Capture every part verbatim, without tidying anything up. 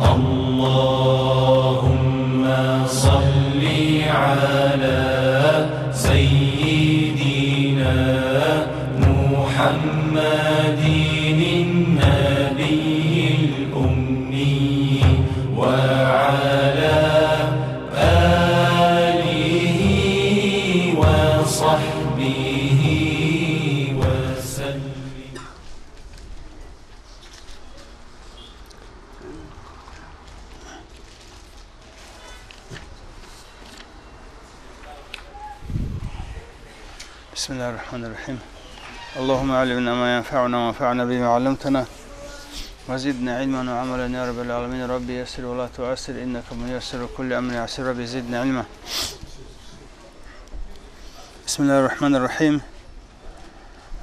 اللهم صل على سيدنا محمد النبي الأمي وعلى آله وصحبه وسلم. بسم الله الرحمن الرحيم. اللهم علمنا ما ينفعنا وانفعنا بما علمتنا وزدنا علما وعملا يا رب العالمين. رب يسر ولا تعسر إنك ميسر كل أمر عسير. رب زدنا علما. بسم الله الرحمن الرحيم.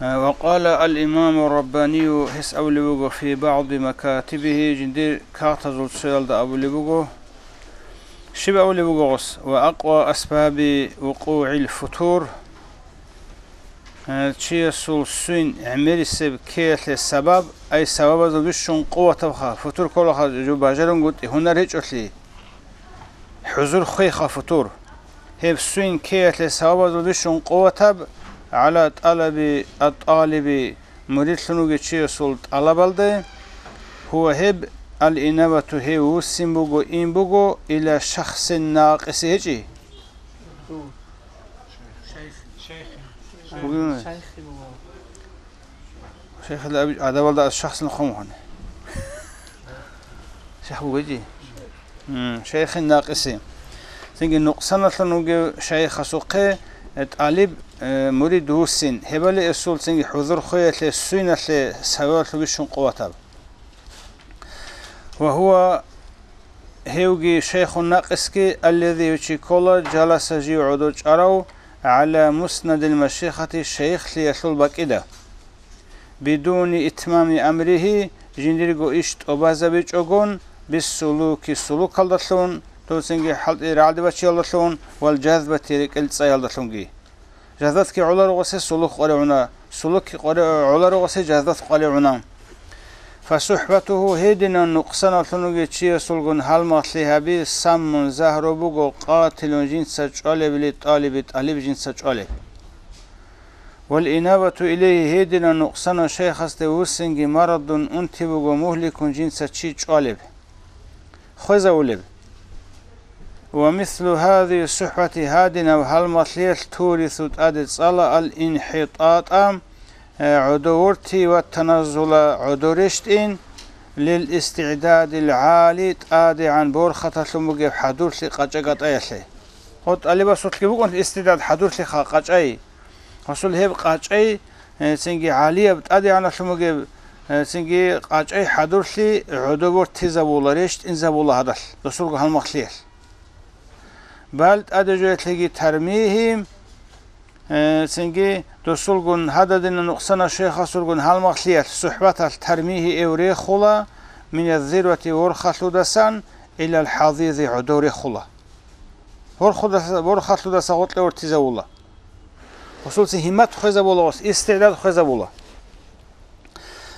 Э, وقال الإمام الرباني, гьес абулеб буго, في بعض مكاتبه, жиндир кагътазул цоялда абулеб буго. Щиб абулеб буго гъос? وأقوى أسباب وقوع الفتور, э, чиясул суйин гӀемерисеб ккеялъе сабаб, ай сабабазул бищун къуватабха, футур кколаха жо бажарунгутӀи гьунар гьечӀолъи. ХӀузур хвейха футур. Гьеб суйин ккеялъе сабабазул бищун къуватаб, على طلب الطالب, муридлъун вугев чиясул тӀалабалде, هو, гьеб, الإنابة, гьев вуссин буго, ин буго, إلى شخص ناقص, гьечӀи? Бугин? Шайхилла абич гӀадабалда аз шахсин хъумухъани. Шайх бугеги? М, шайхин накъиси. Цинги нукъсаналъун вугев шайхасухъе, э, тӀалиб, э, мурид вуссин. Гьебали эсул цинги хӀузур хвеялъе, суйналъе савалъу бищун къуватаб. وهو, гьевги шайхун накъисги, الذي, гьев чи ккола, جلس, жив гӀодов чӀарав, على مسند المشيخة, шайихлъиялъул бакӀида. بدون إتمام أمره, жиндирго иш тӀубазабичӀогон, بالسلوك, сулукалдалъун, дов цинги хӀалтӀи рагӀаде бачиялдалъун, والجذبة, рекӀел цӀаялдалъунги. Жазбатги гӀоларо гъосе сулук къваригӀуна, сулукги къвари-, гӀоларо гъосе жазбат къваригӀуна. فصحبته, гьединан нукъсаналъун вугев чиясулгун гьалмагълъи гьаби, سم, загьру буго, قاتل, жинца чӀвалеб, للطالب, тӀалиб жинца чӀвалеб. والإنابة إليه, гьединан нукъсанав шайхасде вуссинги, مرض, унти буго, مهلك, жинца чи чӀвалеб, хвезавулеб. ومثل هذه الصحبة, гьадинаб гьалмагълъиялъ, تورث, тӀаде цӀала, الانحطاط, э, гӀодов ворти, والتنزل, гӀодов рещтӀин, للاستعداد العالي, тӀадегӀан борхаталъун бугеб хӀадурлъи къачӀа-гатӀаялъе. Гъо тӀалибасулъги букӀун истидад, хӀадурлъиха, къачӀай. Гъосул гьеб къачӀай, э, цинги гӀалияб тӀадегӀаналъун бугеб, э, цинги къачӀай хӀадурлъи гӀодобор тезабула, рещтӀинзабула гьадалъ, досулго гьалмагълъиялъ. Бал тӀаде жоялъеги ترميه, э, цинги досулгун гьададина нукъсана шайхасулгун гьалмагълъиялъ, сухӀбаталъ ترميه эв рехула, من الذروة, ворхалъудасан, إلى الحضيض, гӀодов рехула. Ворхудаса-, ворхалъудаса гъоркье вортизавула. Гъусулцин гьиммат хвезабула, гъус истигӀдад хвезабула.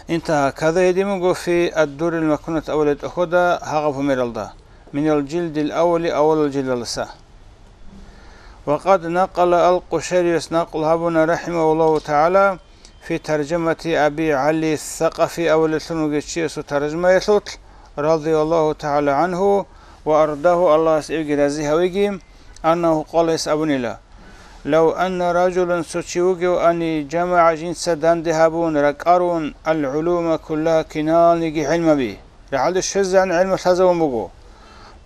انتهى. كذا гьедин буго في الدر المكنون, авале тӀохьода гьагъаб гьумералда, من الجلد الأول, авалал жилдалдаса. وقد نقل القشيري, накълу гьабуна, رحمه الله تعالى, في ترجمة أبي علي الثقفي, авалелъун вугев чиясул таржамаялъулъ, رضي الله تعالى عنه وأرضاه, Аллагьас эвги рази гьавиги, أنه قال, гьес абунила: لو أن رجلا, цо чи вугев, أن جمع, жинца данде гьабун, ракӀарун, العلوم كلها, киналниги гӀилмаби, рагӀалде щвезегӀан гӀилму лъазавун буго,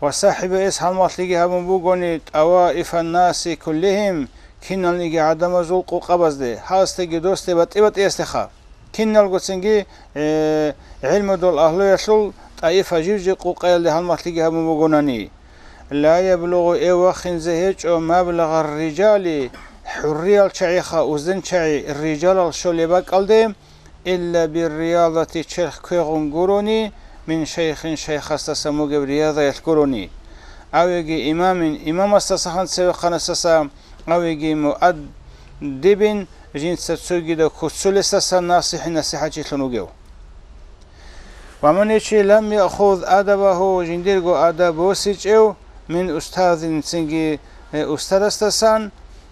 وصحب, эс гьалмагълъиги гьабун бугони, طوائف الناس كلهم, киналниги гӀадамазул къукъабазде, гьасдеги досде, батӀи-батӀиясдеха. Киналгоцинги, э, гӀилмудул агьлуялъул тӀаифа жив-жив къукъаялде гьалмагълъиги гьабун бугонани, لا يبلغ, эв вахинзе гьечӀо, مبلغ الرجال, хӀурриял чагӀиха, узденчагӀи, рижалал щолеб бакӀалде, إلا بالرياضة, черх квегъун гурони, من شيخ, шайхасдасан бугеб риязаялъ гурони, أو имام, имамасдасахан цевехъанасдаса, أو مؤدب, жинца цогидаб куццулесдасан, ناصح, насихӀатчилъун вугев. Ва ман чи лам яхуз адабагьу, жиндирго адаб босичӀев, мин устазин, цинги, э, устарасдасан,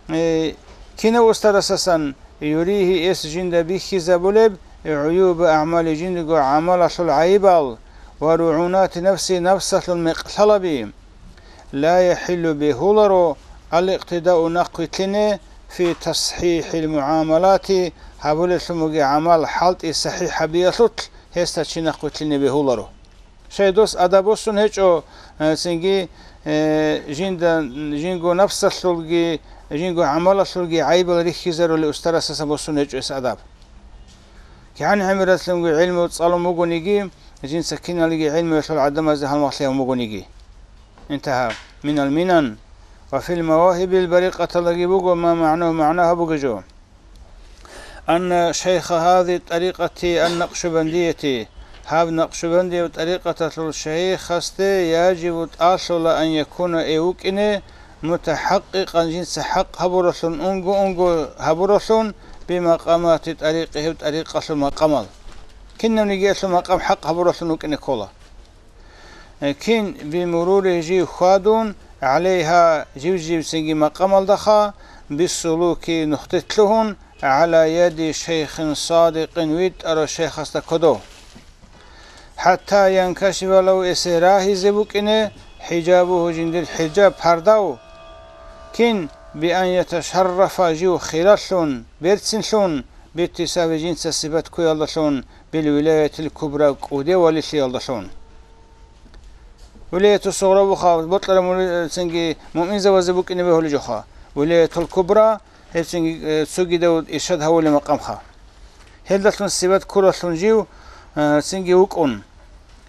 э, кинав устарасдасан, юригьи, эс жинда бихьизабулеб, гӀуюба агӀмали, жиндирго гӀамалалъул гӀайибал, ва ругӀунати нафси, нафсалъул мекълъалаби. Ла яхӀиллу, бегьуларо, ал-икътидау, нахъвилълъине, фи тасхӀихӀил мугӀамалати, гьабулелъун бугеб гӀамал хӀалтӀи сахӀихӀ гьабиялъулъ гьесда чи нахъвилълъине бегьуларо. Щай дос адаб босун гьечӀо, э, цинги, э, жинда, жинго нафсалъулги, жинго гӀамалалъулги гӀайибал рихьизарулев устарасдасан босун гьечӀо эс адаб. КигӀан гӀемералъунги гӀилму цӀалун бугониги, жинца киналги гӀилмуялъул гӀадамазда гьалмагълъи гьабун бугониги. Интагьа. Минал минан. Ва фил мавагьибил барикъаталдаги буго ма магӀнагьу, магӀна гьабуге жо. Анна шайха гьази тӀарикъати ан-накъшубандияти, гьаб накъшубандияб тӀарикъаталъул шайхасде яжибу, тӀалъула, ан якуна, ай вукӀине, мутахӀакъкъикъан, жинца хӀакъ гьабуралъун, унго-унго гьабуралъун, бимакъамати тӀарикъи, гьеб тӀарикъалъул макъамал. Кинабниги гьелъул макъам хӀакъ гьабуралъун вукӀине ккола. Э, кин бимурури, жив хьвадун, гӀалайгьа, жив-живцинги макъамалдаха, биссулуки, нухде лъугьун, гӀала яди шайхин садикъин, витӀарав шайхасда кодов. ХӀатта янкашифа лагьу, эсе рагьизе букӀине, хӀижабугьу, жиндир хӀижаб, пардав. Кин, биан яташаррафа, жив хиралъун, берцинлъун, биттисафи, жинца сипат ккуялдалъун, билвилаятил кубра, кӀуде валилъиялдалъун. Вилаяту сугъра буха, бокьараб мури-, цинги муъминзабазе букӀине бегьулеб жоха. Вилаятул кубра, гьеб цинги, э, цогидав иршад гьавулеб макъамха. Гьелдалъун сипат ккуралъун жив, э, цинги вукӀун.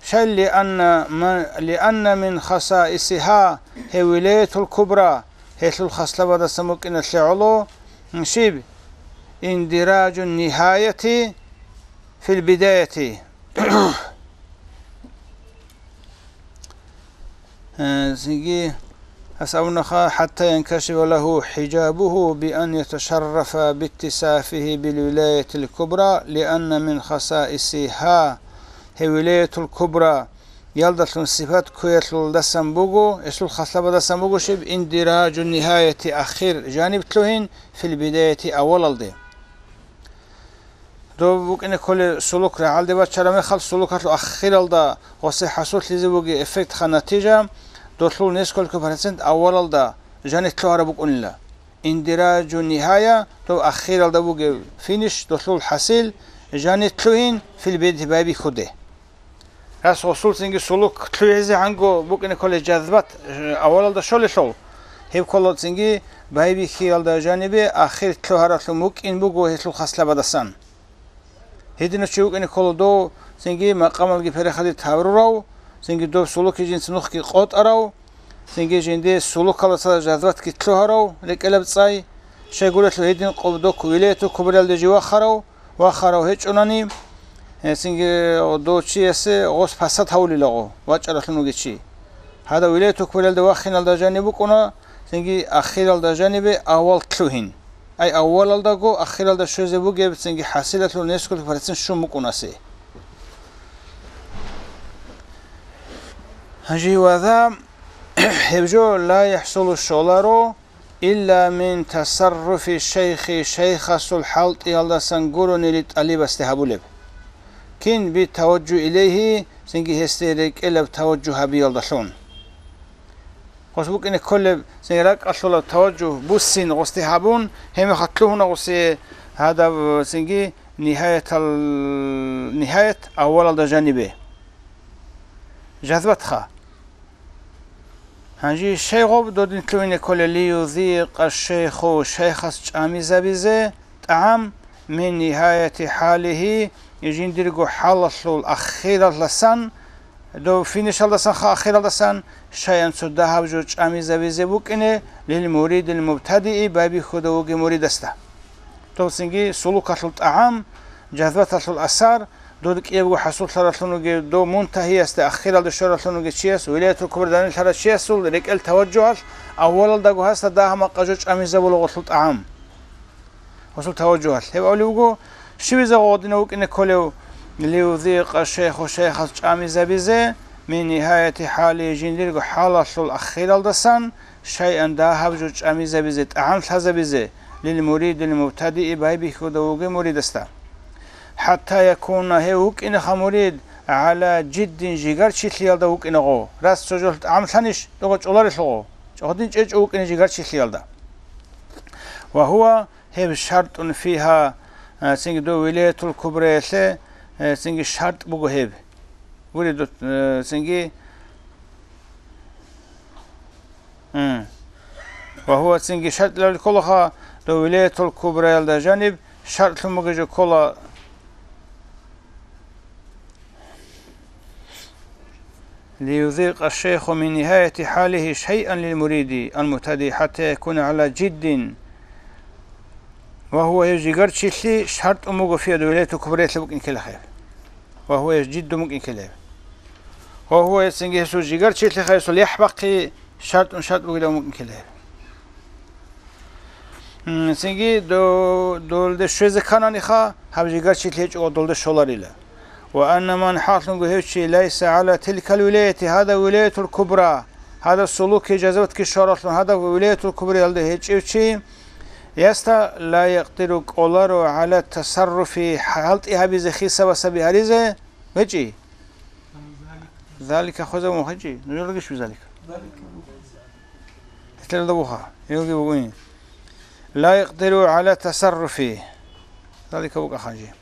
Щай, лианна ма-, лианна мин хасаисиха, гьев вилаятул кубра, гьелъул хаслабадасан букӀиналъе гӀоло, щиб? Индираджу нигьаяти фил бидаяти. Э, цинги гьас абунаха, хӀатта янкашифа лагьу хӀижабугьу биан яташаррафа биттисафигьи билвилаятил кубра, лианна мин хасаисигьа, гьев вилаятул кубра, ялдалъун сипат ккуялъулдасан буго, гьелъул хаслабадасан буго щиб, индираджу нигьаяти, ахир жаниб лъугьин, фил бидаяти, авалалде. Доб букӀине кколеб сулук рагӀалде бачараб мехалъ, сулукалъул ахиралда гъосе хӀасуллъизе бугеб эффектха, натижа, долъул несколько процент авалалда жаниб лъугьараб букӀунила. Индираджу нигьая, доб ахиралда бугеб финиш, долъул хӀасил, жаниб лъугьин, фил бидаяти, байбихьуде. Гьас гъосул цинги сулук лъугӀизе гьанго букӀине кколеб жазбат, э, авалалда щолелъул, гьеб ккола цинги байбихьиялда жанибе ахир лъугьаралъун букӀин буго гьелъул хаслабадасан. Гьединав чи вукӀине ккола дов цинги макъамалги переходить гьабурав, цинги доб сулукги жинца нухги къотӀарав, цинги жинде сулукалдаса жазбатги лъугьарав рекӀелаб цӀай, щайгурелъул гьедин къо-, доб вилаятул кубраялде жив вахарав, вахарав гьечӀонани, гьесинги дов чиясе гъос пасат гьавулелаго вачӀаралъун вугев чи. Гьадав вилаятул кубраялде вахиналда жаниб букӀуна, цинги ахиралда жанибе авал лъугьин. Ай, авалалдаго ахиралда щвезе бугеб, цинги хӀасилалъул несколько процент щун букӀунасе. Гьанже ваза гьеб жо ла яхӀсулу, щоларо, илла мин тасарруфи шайхи, шайхасул хӀалтӀиялдасан гуронили тӀалибасде гьабулеб. Кин би таваджу илейгьи, цинги гьесде рекӀелаб таваджу гьабиялдалъун. Гъос букӀине кколеб, цинги ракӀалъулаб таваджу буссин гъосде гьабун, гьеб мехалъ лъугьуна гъосе гьадаб, цинги нигьаятал-, нигьаят аввалалда жанибе. Жазбатха. Гьанже щай гъоб додин лъугьине кколел, лиюзикъа шейху, шайхас чӀамизабизе, тӀагӀам, мин нигьаяти хӀалихьи, жиндирго хӀалалъул ахиралдасан, дов финишалдасанха ахиралдасан, шайан цо дагьаб жо чӀамизабизе букӀине, лил муридил мубтадии, байбихьуда вугев муридасда. Дов цинги сулукалъул тӀагӀам, жазбаталъул асар, дод кӀиябго хӀасуллъаралъун вугев, дов мунтагьиясда, ахиралде щваралъун вугев чияс, вилаятул кубра данделъарав чиясул рекӀел таваджугьалъ, аввалалдаго гьасда дагьа-макъа жо чӀамизабула гъолъул тӀагӀам. Гъосул таваджугьалъ. Гьеб абулеб буго, щивиза гъодинав вукӀине кколев, Лиузикъа шейху, шейхас чӀамизабизе, мин нигьаяти хӀали, жиндирго хӀалалъул ахиралдасан, шайъан, дагьаб жо чӀамизабизе, тӀагӀам лъазабизе, лил муридил мубтадии, байбихьуда вугев муридасда. ХӀатта якуна, гьев вукӀинеха мурид, гӀала жиддин, жигарчилъиялда вукӀинегъо, рас цо жолъ тӀагӀам лъанищ, догъа чӀоларелъугъо, гьадин чӀечӀо вукӀине жигарчилъиялда. Ва гьува, гьеб шартӀун фигьа, а, цинги дов вилаятул кубраялъе, э, цинги шартӀ буго гьеб. Гури, ду-, э, цинги, м. Ва гьува, цинги шартӀ лъалел кколаха, дов вилаятул кубраялда жаниб шартӀлъун бугеб жо ккола. ليذيق الشيخ من نهاية حاله شيئا للمريد المبتدئ حتى يكون على جد. وهو, гьев жигарчилъи шартӀун буго фигьа, вилаятул кубраялъе букӀин ккелахъе. وهو, гьев жиддун букӀин ккелеб. وهو, гьесинги гьесул жигарчилъи, гьесул яхӀ бахъи шартӀун шартӀ бугилан букӀин ккелеб. М, цинги до-, долде щвезе ккананиха, гьаб жигарчилъи гьечӀого долде щоларила. Ва анна ман, хӀакълъунго гьев чи, лайса гӀала тилкал вилаяти, гьадаб вилаятул кубра, гьадаб сулуки жазаватги щваралъун гьадаб вилаятул кубраялда гьечӀев чи, яста ла якъдиру, кӀоларо, гӀала тасарруфи, хӀалтӀи гьабизе хисабасаби гьаризе гьечӀи. Залика хвезабун хъинчӀи, нужедаги щвезалика. Гьелда буха, гьелги бугони. Ла якъдиру гӀала тасарруфи. Залика букӀа хъанчи.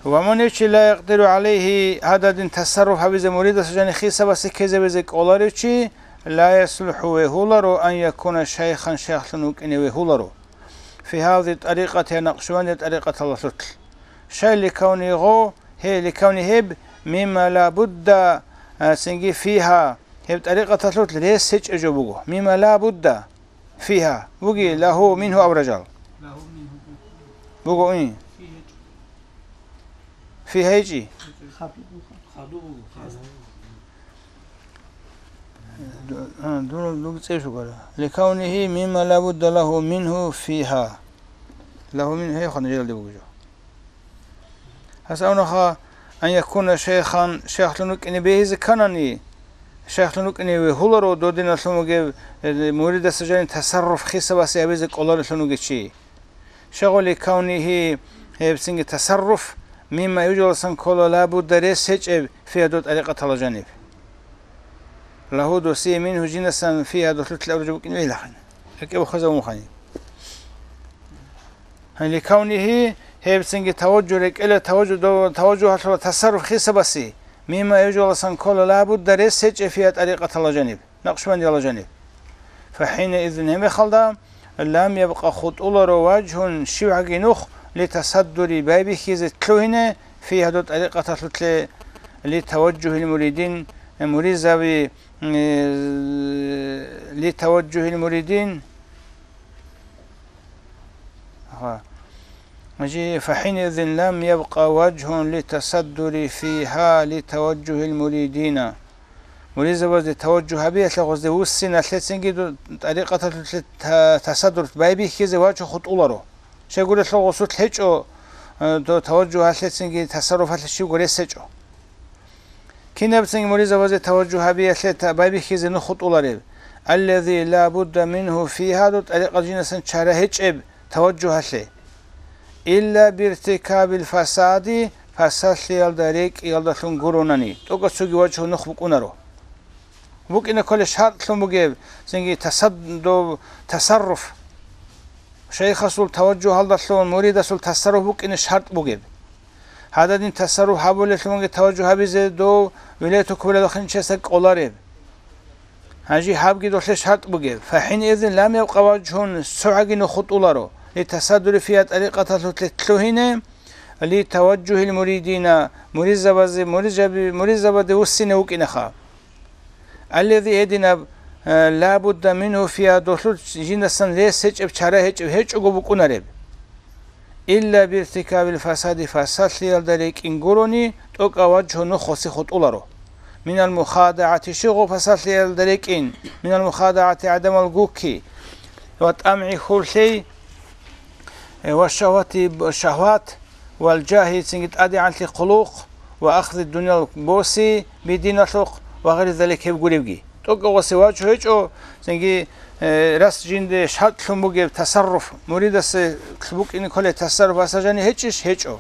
Ва мун гьев чи ла якъдиру гӀалайгьи, гьададин тасарруф гьабизе муридас жани хисабасе ккезабизе кӀоларев чи, ла яслухӀу, вегьуларо, ан якуна шайхан, шайхлъун вукӀине вегьуларо. Фи гьази тӀарикъати, я накъшбанди тӀарикъаталалъулъ. Шай ликавни гъо, гье, ликавни гьеб, мимма ла будда, а, цинги фигьа, гьеб тӀарикъаталъулъ рес гьечӀеб жо буго. Мимма ла будда фигьа, буги лагьу мингьу абражал. Буго, ин. Фигьа гьечӀи? Ду-, а, дур-, дур цӀе щугара. Ликавнигьи мимма ла будда лагьу мингьу фигьа. Лагьу мин, гьей, хъана желде бугеб жо. Гьас авнаха, ан якуна шайхан, шайхлъун вукӀине бегьизе кканани, шайхлъун вукӀине вегьуларо додиналъун вугев, э, муридасда жаниб тасарруф хисабасе гьабизе кӀоларелъун вугев чи. Шагъули кавнигьи, гьебцинги тасарруф, мимма, гьев жоялдасан ккола, ла будда, рес гьечӀеб, фигьа, дол тӀарикъаталда жаниб. Лагьу, досие, мингьу, жинасан, фигьа, долъулъ абураб жо букӀине бегьилахъин. РекӀелъе хвезабун хъани. Гьанже кавнигьи, гьебцинги таважжугь, рекӀелъе таважжугь, дов-, таважжугьалъула тасарруф хисабасе, мимма, гьев жоялдасан ккола, ла будда, рес гьечӀеб, фигьа, тӀарикъаталда жаниб. Накъшбандиялда жаниб. ФахӀинаизин, гьеб мехалда, лам ябкъа, хутӀуларо, важгьун, щибгӀаги нух, литасаддури, байбихьизе, лъугьине, фигьа, дол тӀарикъаталъулъе, литаважжугьил муридин, муризаби, э, литаважжугьил муридин. Ага. Жи, фахӀинаизин лам ябкъа важгьун литасаддури фигьа литаважжугьил муридина. Муридзабазде таважжугь гьабиялъе гъозде вуссиналъецинги ду-, тӀарикъаталъулъе та-, тасаддур байбихьизе вачун хутӀуларо. Щайгурелъул гъосулъ гьечӀо, э, до-, таважжугьалъецинги тасарруфалъе щибго рес гьечӀо. Кинабцинги муридзабазе таважжугь гьабиялъе та-, байбихьизе нух хутӀулареб. Аллази ла будда мингьу фигьа, дол тӀарикъат, жинасан чара гьечӀеб таважжугьалъе. Илла биртикабил фасади, фасалъиялда рекӀиялдалъун гуронани, тӀокӀаб цоги важгьу нух букӀунаро. БукӀине кколеб шартӀлъун бугеб, цинги тасад-, дов-, тасарруф. Шайхасул таважжугьалдалъун муридасул тасарруф букӀине шартӀ бугеб. Гьададин тасарруф гьабулелъунги таважжугь гьабизе дов вилаятул кубраялда хинчиясда кӀолареб. Гьанже гьабги долъе шартӀ бугеб. ФахӀинаизин лам ябкъа важгьун, цогӀаги нух хутӀуларо, литасаддури фигьа, тӀарикъаталъулъе лъугьине, литаважжугьил муридина, муридзабазе, муридзаби-, муридзабазде вуссине вукӀинаха. Аллази, гьединаб, э, ла будда мингьу фигьа, долъул жинасан рес гьечӀеб, чара гьечӀеб, гьечӀого букӀунареб. Илла биртикабил фасади, фасалъиялда рекӀин гурони, тӀокӀаб важгьу нух гъосе хутӀуларо. Минал мухадагӀати, щиб гъо фасалъиялда рекӀин, минал мухадагӀати, гӀадамал гукки, ва тӀамгӀи, хурлъей, э, ва шагьвати, шагьват, вал жагьи, цинги тӀадегӀанлъи хъулухъ, ва ахзи дуниял боси би диналъухъ, ва гъайри залик гьеб гуребги. ТӀокӀаб гъосе вачӀу гьечӀо, цинги, э, рас жинде шартӀлъун бугеб тасарруф, муридасе букӀине кколеб тасарруф асажани гьечӀищ? ГьечӀо.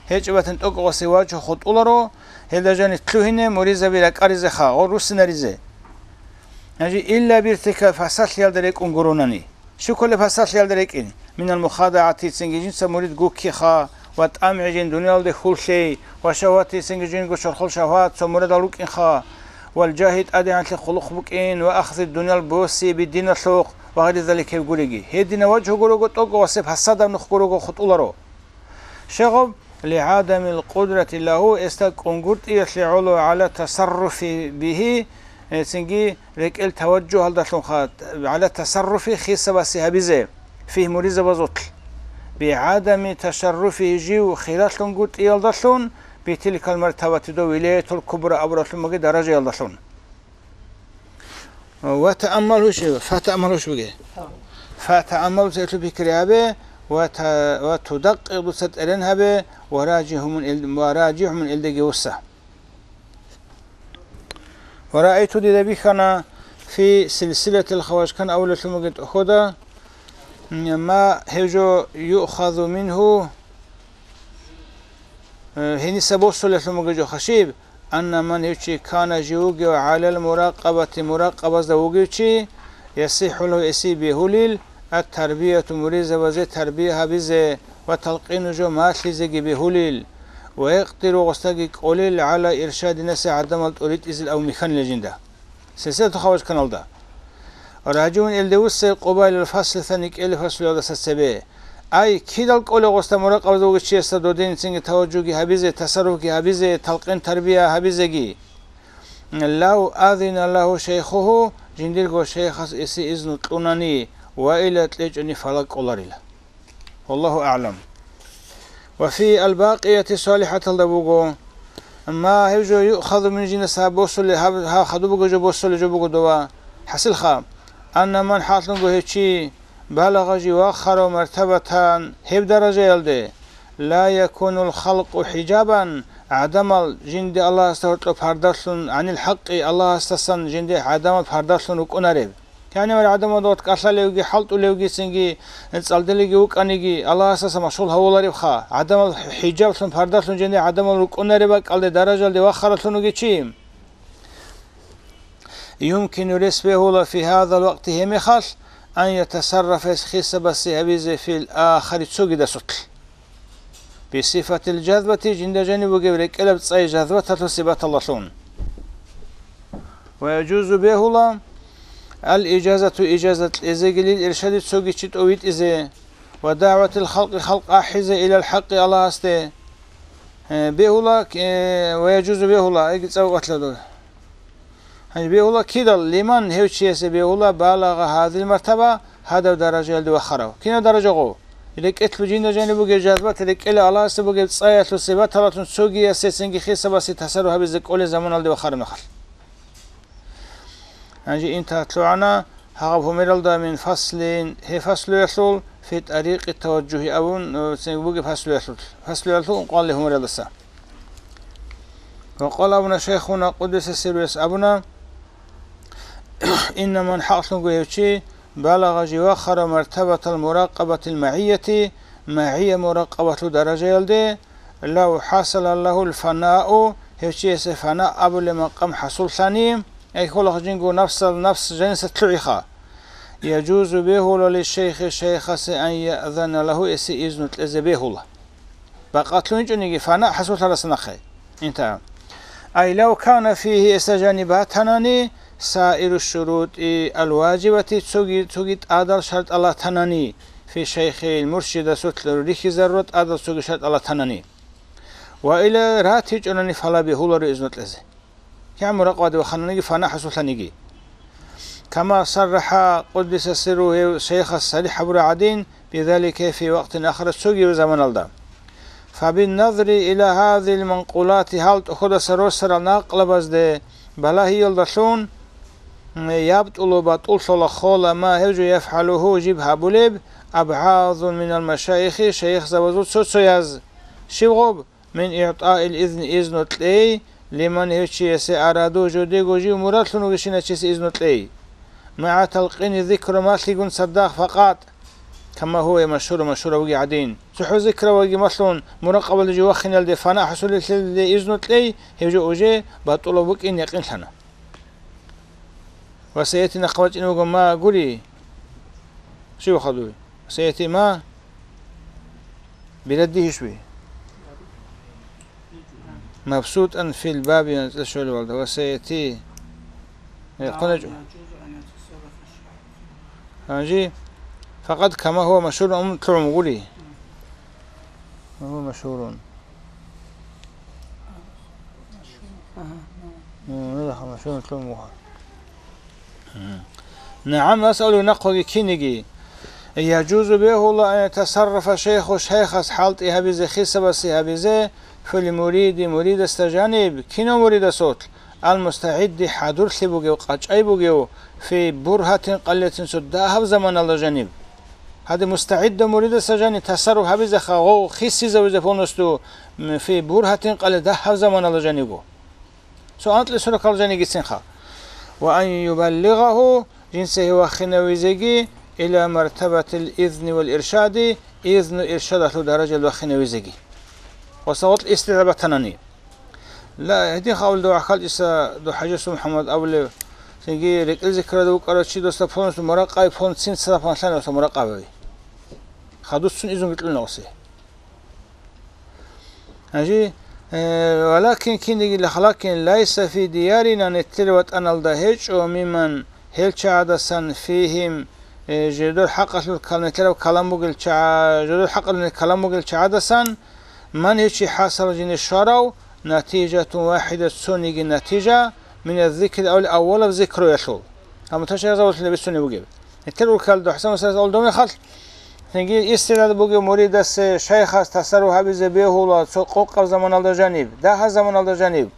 ГьечӀеб батани тӀокӀаб гъосе вачӀу хутӀуларо, гьелда жани лъугьине муризаби ракӀаризеха, гъо руссинаризе. Гьанже илла биртика фасалъиялда рекӀун гуронани. Щив кколеб пасалъиялда рекӀин? Минал мухадагӀати, цинги жинца мурид гуккиха ва тӀамгӀи жин дуниялде хьуллъей, ва шагьвати, цинги жинго чорхол шагьват цо мурадал рукӀинха, вал жагьи тӀадегӀанлъи хъулухъ букӀин, ва ахзи дуниял боси би диналъухъ, ва гъайри залик гьеб гуриги. Гьедина вачгьу гурого тӀокӀо ва себ пасадаб нух гурого хутӀуларо. Щегъаб, лигӀадамил къудрати лагьу, эсда кӀунгутӀиялъе гӀоло гӀала тасарруфи бигьи, э, цинги рекӀел таваджугьалдалъунха, гӀала тасарруфи хисабаси гьабизе, фигь муризабазулъ. БигӀадами ташарруфи жив хиралъунгутӀиялдалъун, битилкал мартабати дов вилаятул кубра абуралъумаги даражаялдалъун. Ва тааммалгьу ши-, фатааммалгьу шуге. Фатааммалгьу цетлъу пикри гьабе, ва та-, ва тудакъикъ дуца тӀерен гьабе, ва ражигьумун ил-, ва ражигьумун илдеги вусса. Ва раайту дида бихьана фи силсилатил хаважкан авлалъумаги тӀохода, ма гьев жо юхазу мингьу, э, гьениса босулелъумаги жо хашиб, Анна ман гьев чи кана жив вугев гӀалал муракъабати муракъабазда вугев чи, ясихӀулгьу эси бегьулил, ат-тарбияту муризабазе тарбия гьабизе ва талкъину жо малъизеги бегьулил, ва якъдиру гъосдаги кӀолел гӀала иршади наси гӀадамал тӀуритӀизил ав михьанила жинда. Сесетухъа вачканалда. Ражун илдевуссай къубайлал фаслиса никӀеле фаслуялдаса цебе. Ай, кидал кӀоле гъосда муракъабазда вугев чиясда додин цинги таваджуги гьабизе, тасарруфги гьабизе, талкъин тарбия гьабизеги. Лав азина лагьу шайхуху, жиндирго шайхас эси изну кьунани, ва ила кьечӀони фала кӀоларила. Валлагьу аълам. Ва фи албакъияти салихӀаталда буго. Амма гьев жо юхазу мин жинас гьаб босуле, гьаб, гьа хадуб буго жо босуле жо буго дова. ХӀасилха, анна ман хӀалъунго гьев чи, балагъа жив вахарав мартабатан гьеб даражаялде, ла якунул халкъу хӀижабан, гӀадамал жинде Аллагьасда гьоркьоб пардалъун, гӀанил хӀакъи, Аллагьасдасан жинде гӀадамал пардалъун рукӀунареб. Кянивал гӀадамал дот кӀалъалевги, хӀалтӀулевги, цинги цӀалдилеги вукӀаниги, Аллагьасдаса машгъул гьавуларебха, гӀадамал хӀижаблъун, пардалъун жинде гӀадамал рукӀунареб бакӀалде даражалде вахаралъун вугев чи. Юмкину рес бегьула фи гьазал вакъти гьеб мехалъ, ан ятасаррафа эс хисабаси гьабизе фил ахари цогидасулъ. Бисифатил жазбати жинда жаниб бугеб рекӀелаб цӀай жазбаталъул сипаталдалъун. Ва яжузу бегьула ал ижазату ижазат кьезегилил иршади цоги чи тӀовитӀизе ва дагӀватил халкъи халкъ ахӀизе илал хӀакъи Аллагьасде. Э, бегьула, э, ва яжузу бегьула, айги цӀав ватладу. Гьанже бегьула кидал, лиман гьев чиясе бегьула балагъа гьазил мартаба, гьадав даражаялде вахарав. Кинав даража гъов? РекӀелъ бужинда жаниб бугеб жазбат, рекӀелъ Аллагьасда бугеб цӀаялъул сипаталъун цогиясецинги хисабасе тасарруф гьабизе кӀолеб заманалде вахараб мехалъ. Гьанже интагьат лъугӀана гьагъаб гьумералда мин фаслин, гьеб фаслуялъул, фи тӀарикъи таважжухӀи абун, э, цинги бугеб фаслуялъул, фаслуялъул ункъоялде гьумералдаса. Ва къала абуна шайхуна къуддиса сирругьу абуна, инна ман хӀакълъунго гьев чи балагъа жив вахара мартабатал муракъабатил магӀияти, магӀия муракъабатлъул даражаялде, лав хӀасала лагьул фанау, гьев чиясе фана абулеб макъам хӀасуллъани, ай хьулахъ жинго нафсал нафс жаниса лъугӀиха. Яжузу бегьула лишейхи шайхасе ан яъзана лагьу эсе изну кьезе бегьула. Бакъатлъун чӀониги фана хӀасуллъараса нахъе. Инта. Ай лав кана фигьи эса жаниб батанани саиру шурутӀи алважибати цоги, цоги тӀадал шартӀал ратанани, фи шайхил муршидасулъ рихьизарура тӀадал цоги шартӀал ратанани. Ва ила ратичӀонани фала бегьуларо изну кьезе. КигӀан муракъабаде вахананиги фана хӀасуллъаниги. Кама саррахӀа къуддиса сирругьу гьев шайхас сарихӀ гьабураб гӀадин, бизалика фи вакътин ахара цогияв заманалда. Фабинназри ила гьазил манкъулати гьал тӀоходаса росарал накълабазде балагьиялдалъун, ябтӀулу батӀуллъула хола ма гьев жо яфгӀалугьу жиб гьабулеб абгӀазун минал машайихи шайихзабазул цо-цояз. Щиб гъоб? Мин игӀтаил изни, изну кьей, лиман, гьев чиясе, араду, жодего жив мурадлъун вугевщинав чиясе изну кьей. МагӀа талкъини зикру, малъигун цадахъ факъат, кама гьува машгьурун, машгьурав вугев гӀадин. ЦохӀо зикраваги малъун, муракъабалде жив вахиналде, фана хӀасулелъелде изну кьей, гьев жо уже батӀулаб букӀин якъинлъана. Ва саяти, нахъа бачӀине буго, ма гури. Щив хадуй? Саяти ма бирадди гьишви. МабсутӀан фил баби, анцӀила щолевалда. Ва саяти. Э, хъуначӀо. Гьанжи. Факъат кама гьува машгьурун, ам лъугӀун гури. Гьува машгьурун. НагӀам, асъалу нахъаги киниги. Яжузу, бегьула, ан ятасаррафа шайху, шайхас хӀалтӀи гьабизе, хисабасе гьабизе, фил муриди, муридасда жаниб, кинав муридасулъ, ал мустагӀидди, хӀадурлъи бугев, къачӀай бугев, фи бургьатин къалилатин, цо дагьаб заманалда жаниб. Гьаде мустагӀидда муридасда жаниб тасарруф гьабизеха, гъов хисизавизе полностью, м, фи бургьатин къалил, дагьаб заманалда жанибго. Цо анкьлъи сорокал жанигицинха. Ва ан юбаллигъагьу, жинца гьев вахинавизеги, ила мартабатил изни вал иршади, изну иршадалъул даражал вахинавизеги. Ва сагъулъ истигӀа батанани. Ла, гьедин хавлда вахъал иса до хӀажасул МухӀаммад абулев, цинги рекӀел зикрада вукӀарав чи досда полностью муракъай пон цин цадахъ панлъани оса муракъабави. Хадусцун изун гитлъуна осе. Гьанже, э, валакин киниги лахалакин лайса фи диярина, нилъер ватӀаналда гьечӀо, миман, гьел чагӀадасан, фигьим, э, жидер хӀакъалъулъ кал-, нилъераб калам бугел чагӀа-, жидер хӀакъалъулъ калам бугел чагӀадасан, ман гьечи хӀасал жине щварав, натижатун вахӀида, цониги натижа, мина зикри, авал аввалаб зикруялъул. Гьаб муташагьизабазулъ бицунеб бугеб. Нилъер уркалда ХӀасан устарас алдо мехалъ, цинги истигӀда бугев муридасе шайхас тасарруф гьабизе бегьула цо къокъаб заманалда жаниб, дагьаб заманалда жаниб,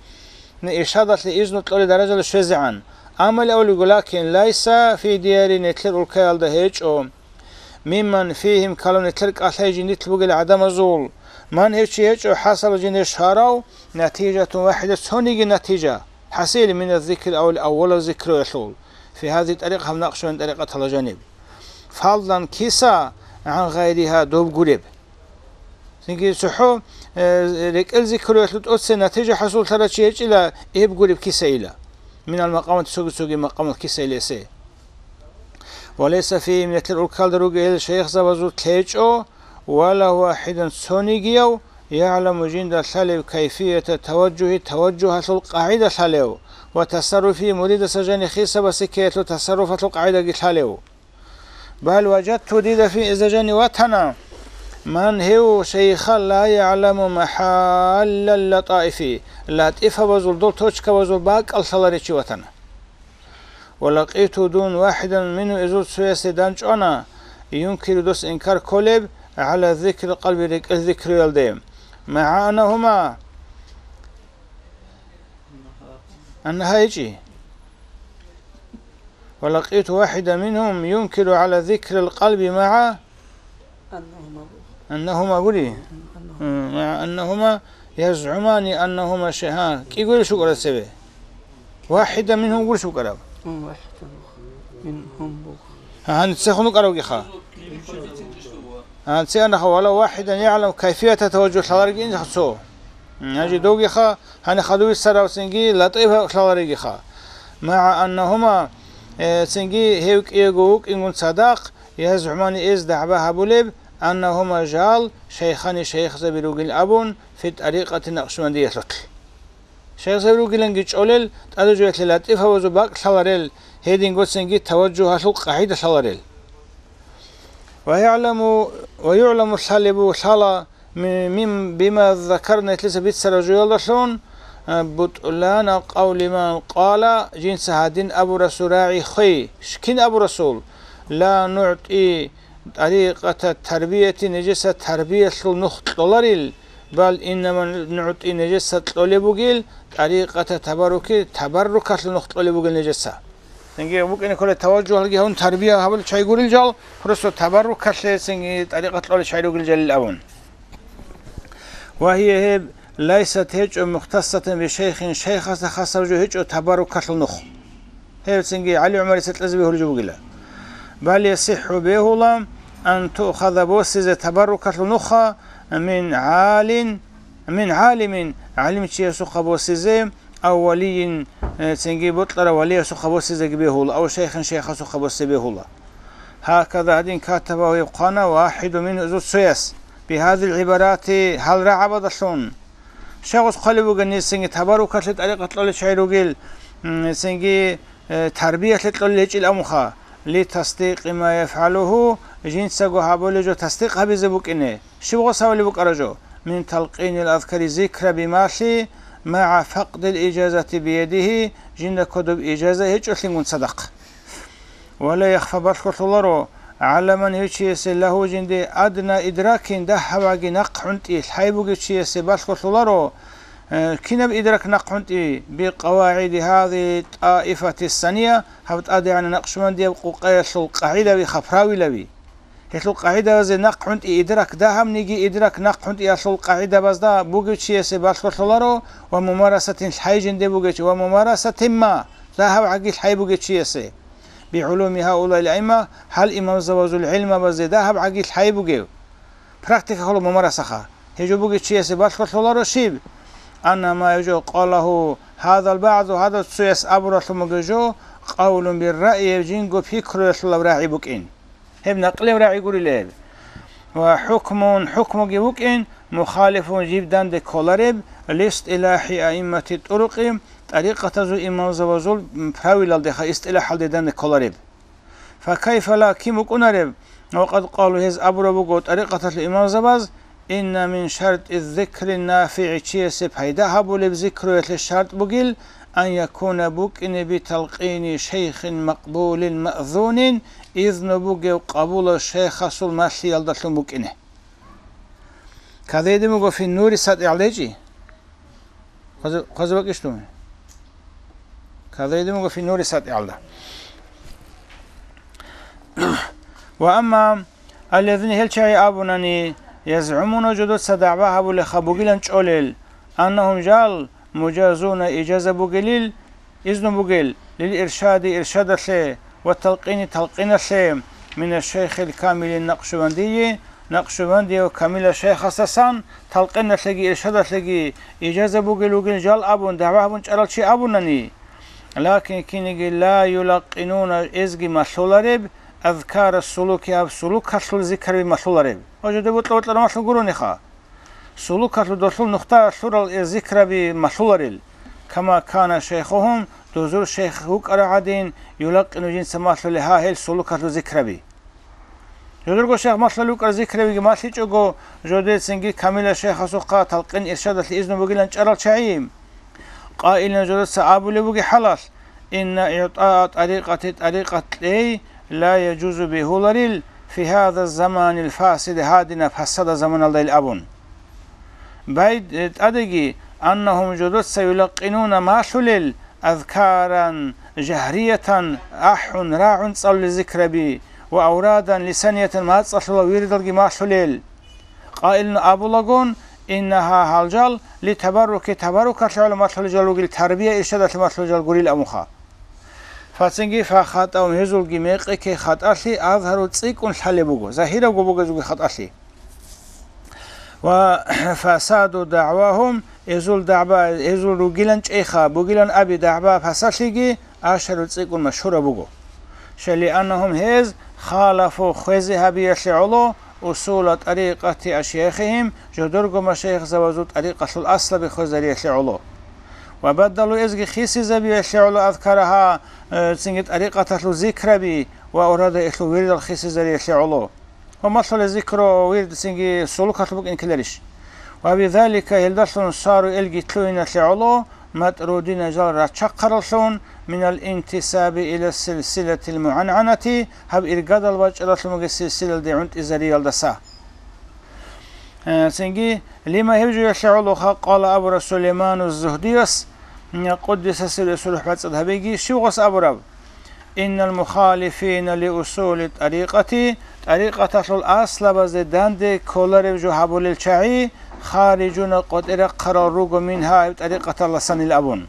иршадалъе изну кьолеб даражалде щвезегӀан. Амма авлиго, лакин лайса фи диярин, нилъер уркаялда гьечӀо, мимман фигьим калун, нилъер кӀалъай жиндилъ бугел гӀадамазул, ман гьев чи гьечӀо хӀасал жине щварав, натижатун вахӀида, цониги натижа. ХӀасил мина зикр, авал аввалаб зикруялъул, фи гьази тӀарикъ, гьаб накъшбан тӀарикъатала жаниб. Фалдан киса гӀан гъайриха, доб гуреб. Цинги цохӀо, э, рекӀел зикруялъул тӀоце натижа хӀасуллъарав чи гьечӀила, эб гуреб кисайила. Минал макъамат, цоги-цоги макъамат кисайилесе. Ва лайса фигьим, нилъер уркалда ругел шайихзабазул лъечӀо, вала вахӀидан, цонигияв, ягӀламу, жинда лъалев, кайфията таважжухӀи, таважжухӀалъул къагӀида лъалев, ва тасарруфи, муридаса жани хисабасе ккеялъул тасарруфалъул къагӀидаги лъалев. Бал важатту, дида фин иза жани ватана, ман, гьев шайиха, ла ягӀламу махӀаллал латаифи, латӀифабазул, дол точкабазул бакӀал лъаларичи ватана. Ва лакъиту, дун, вахӀидан мингьу, изул цоясе данчӀвана, юнкиру, дос инкар кколеб, гӀала зикрил къалби, рекӀел зикруялде. МагӀа аннагьума, аннагьа гьечӀи. Ва лакъиту вахӀидан мингьум юнкиру гӀала зикрил къалби магӀа Аннагьума буго. Аннагьума гури? Аннагьума. М, ма аннагьума язгӀумани аннагьума шайъан. КӀигурищ букӀараб цебе? ВахӀидан мингьум гурищ букӀараб? М, вахӀидан буго. Мингьум буго. Гьанна цехун букӀарабгиха? Гьанна цеанха, вала вахӀидан ягӀлам кайфията таважжух лъаларги инха цо. М, гьанже довгиха, гьанна хадуб бицарав цинги латӀиф лъаларигиха. МагӀа аннагьума, э, цинги гьев кӀиего вукӀингун цадахъ, язгӀумани, эс дагӀба гьабулеб, аннагьума жал шайхани, шайихзаби ругин абун, фи тӀарикъати накъшбандиялъулъ. Шайихзаби ругиланги чӀолел, тӀаде жоялъе латӀифабазул бакӀ лъаларел, гьединго цинги таважжугьалъул къагӀида лъаларел. Ва ягӀламу, ва югӀламу, лъалебу лъала, Ми-, мим-, бима закарна, нилъеца бицараб жоялдалъун, а, бутӀлана къавли ман къала, жинца гьадин абурасул рагӀи хвей. Ш-, кин абурасул? Ла нугӀти тӀарикъата тарбияти, нижеца тарбиялъул нух кьоларил, бал иннама нугӀти, нижеца кьолеб бугил, тӀарикъата табарруки, табаррукалъул нух кьолеб бугил нижеца. Цинги букӀине ккола таважжугьалги гьавун тарбия гьабулел чагӀи гурел жал, просто табаррукалъе цинги тӀарикъат кьолел чагӀи ругел жалил абун. Ва гьия гьеб лайсат гьечӀо мухтассатан бишайхин, шайхасда хасаб жо гьечӀо табаррукалъул нух. Гьеб цинги ГӀали ГӀумарица кьезе бегьулеб жо бугила. Бал ясихӀу, бегьула, ан туъхаза, босизе табаррукалъул нуха, мин гӀалин, мин гӀалимин, гӀалимчиясухъа босизе, ав валийин, э, цинги бокьарав валиясухъа босизеги бегьула, ав шайхин, шайхасухъа босе бегьула. Гьаказа гьадин катаба гьеб хъвана вахӀиду мингьу, цояс, бигьадил гӀибарати, гьал рагӀабадалъун. Щай гъос хъвалеб бугеб, нилъ цинги табаррукалъе тӀарикъат кьолел чагӀи ругел, м, цинги, э, тарбиялъе кьолел гьечӀел абунха, ли тасдикъи ма яфгӀалугьу, жинцаго гьабулеб жо тасдикъ гьабизе букӀине. Щиб гъос гьабулеб букӀараб жо? Мин талкъинил азкари, зикраби малъи, магӀа факъдил ижазати биядигьи, жинда кодоб ижаза гьечӀолъингун цадахъ. Ва ла яхфа, балъголъуларо, гӀала ман, гьев чиясе, лагьу, жинде, адна идракин, дагьабгӀаги нахъ гӀунтӀи лъай бугев чиясе балъголъуларо, э, кинаб идрак нахъ гӀунтӀи, бикъавагӀиди гьази тӀаифати сания, гьаб тӀадегӀанаб накъшбандияб къукъаялъул къагӀидаби, правилаби. Гьелъул къагӀидабазе нахъ гӀунтӀи идрак, дагьабниги идрак нахъ гӀунтӀиялъул къагӀидабазда бугев чиясе балъголъуларо ва мумарасатин лъай жинде бугев чи, ва мумарасатимма, дагьабгӀаги лъай бугев чиясе. БигӀулуми гьаулаил аимма, гьал имамзабазул гӀилмабазе дагьабгӀаги лъай бугев. Практика холо мумарасаха. Гьеб жо бугев чиясе балъголъуларо щиб? Анна ма, гьеб жо, къалагьу гьазал багӀзу, гьадав цояс абуралъун бугеб жо, къавлун бирраъи, гьеб жинго пикруялъулаб рагӀи букӀин. Гьеб накълияв рагӀи гурила гьеб. Ва хӀукмун, хӀукмуги вукӀин, мухалифун, жиб данде кколареб, листилахӀи аиммати тӀурукъи, тӀарикъатазул имамзабазул правилалдеха, истилахӀалде данде кколареб. Факайфа ла, кин букӀунареб? Ва къад къалу, гьез абураб буго тӀарикъаталъул имамзабаз, инна мин шартӀи зикри нафигӀи, чиясе пайда гьабулеб зикруялъе шартӀ бугил, ан якуна, букӀине, биталкъини шайхин макъбулин маъзунин, изну бугев къабулав шайхасул малъиялдалъун букӀине. Кадайдин буго фи нури сатӀигӀал гьечӀи? Хъазе-, хъазе бакӀищ дун? Кадайдин буго фи нури сатӀигӀалда. Ва амма аллазина, гьел чагӀи абунани, язгӀумуна, жодоца дагӀба гьабулеха бугилан чӀолел, аннагьум, жал, мужазуна, ижаза бугелил, изну бугел, лил иршади, иршадалъе, ва талкъини, талкъиналъе, мина шайхил камили накъшубандийи, накъшубандияв камила шайхасдасан, талкъиналъеги иршадалъеги ижаза бугел вугин жал абун, дагӀба гьабун чӀарал чи абунани. Лакин киниги ла юлакъинуна, эзги малъулареб, азкара сулуки, гьаб сулукалъул зикраби малъулареб. Ва жо деб бутӀа-бутӀараб малъун гурониха. Сулукалъул долъул нухда лъурал э зикраби малъуларел, кама кана шайхухум, дозул шайх вукӀарав гӀадин, юлакъину, жинца малъулел гьа гьел сулукалъул зикраби. Жодорго шайх малъулел вукӀарал зикрабиги малъичӀого, жодецинги камила шайхасухъа талкъин иршадалъе изну бугилан чӀарал чагӀи. Къайилан, жодеца абулеб бугеб хӀалалъ, инна игӀтаа тӀарикъати, тӀарикъат кьей, ла яжузу, бегьуларил, фи гьаза заманил фасиди, гьадинаб пасада заманалдайил абун. Байд-, э, тӀадеги, аннагьум, жодеца, юлакъинуна, малъулел, азкаран жагьриятан, ахӀун, рагӀун цӀалулел зикраби, ва аврадан лисаниятан, мацӀалъула вирдалги малъулел. Къайилан абулагун, иннагьа, гьал жал, ли табарруки, табаррукалъе гӀоло малъулел жал ругел, тарбия-иршадалъе малъулел жал гурил абунха. Фацинги фахатӀаум, гьезулги мекъи ккей хатӀалъи, азгьару, цӀикӀкӀун лъалеб буго, загьирабго бугезулги хатӀалъи. Ва фасаду дагӀвагьум, гьезул дагӀба, гьезул ругилан чӀейха, бугилан аби дагӀба пасалъиги, ашару, цӀикӀкӀун машгьураб буго. Шалианнагьум, гьез, халафу, хвезе гьабиялъе гӀоло, усула тӀарикъати ашяхихим, жодорго машайихзабазул тӀарикъалъул аслаби хвезариялъе гӀоло. Ва баддалу, эзги хисизабиялъе гӀоло, азкарагьа, э, цинги тӀарикъаталъул зикраби ва урада элъул вирдал хисизариялъе гӀоло. Ва малъулел зикру вирд цинги сулукалъул букӀин ккеларищ? Ва бизалика, гьелдалъун, сару, элги лъугьиналъе гӀоло, матрудина, жал рачахъараллъун, минал интисаби иля силсилатил мугӀангӀанати, гьаб иргадал бачӀаралъун бугеб силсилалде гӀунтӀизариялдаса. Э, цинги, лима, гьеб жоялъе гӀоло, къала, абура Сулейману Зугьдияс, м, къуддиса сирругьу, бацӀцӀад гьабеги, щив гъос абураб? Иннал мухалифина ли усули тӀарикъати, тӀарикъаталъул аслабазде данде кколареб жо гьабулел чагӀи, харижуна къотӀи рахъарал руго мингьа гьеб тӀарикъаталдасанил абун.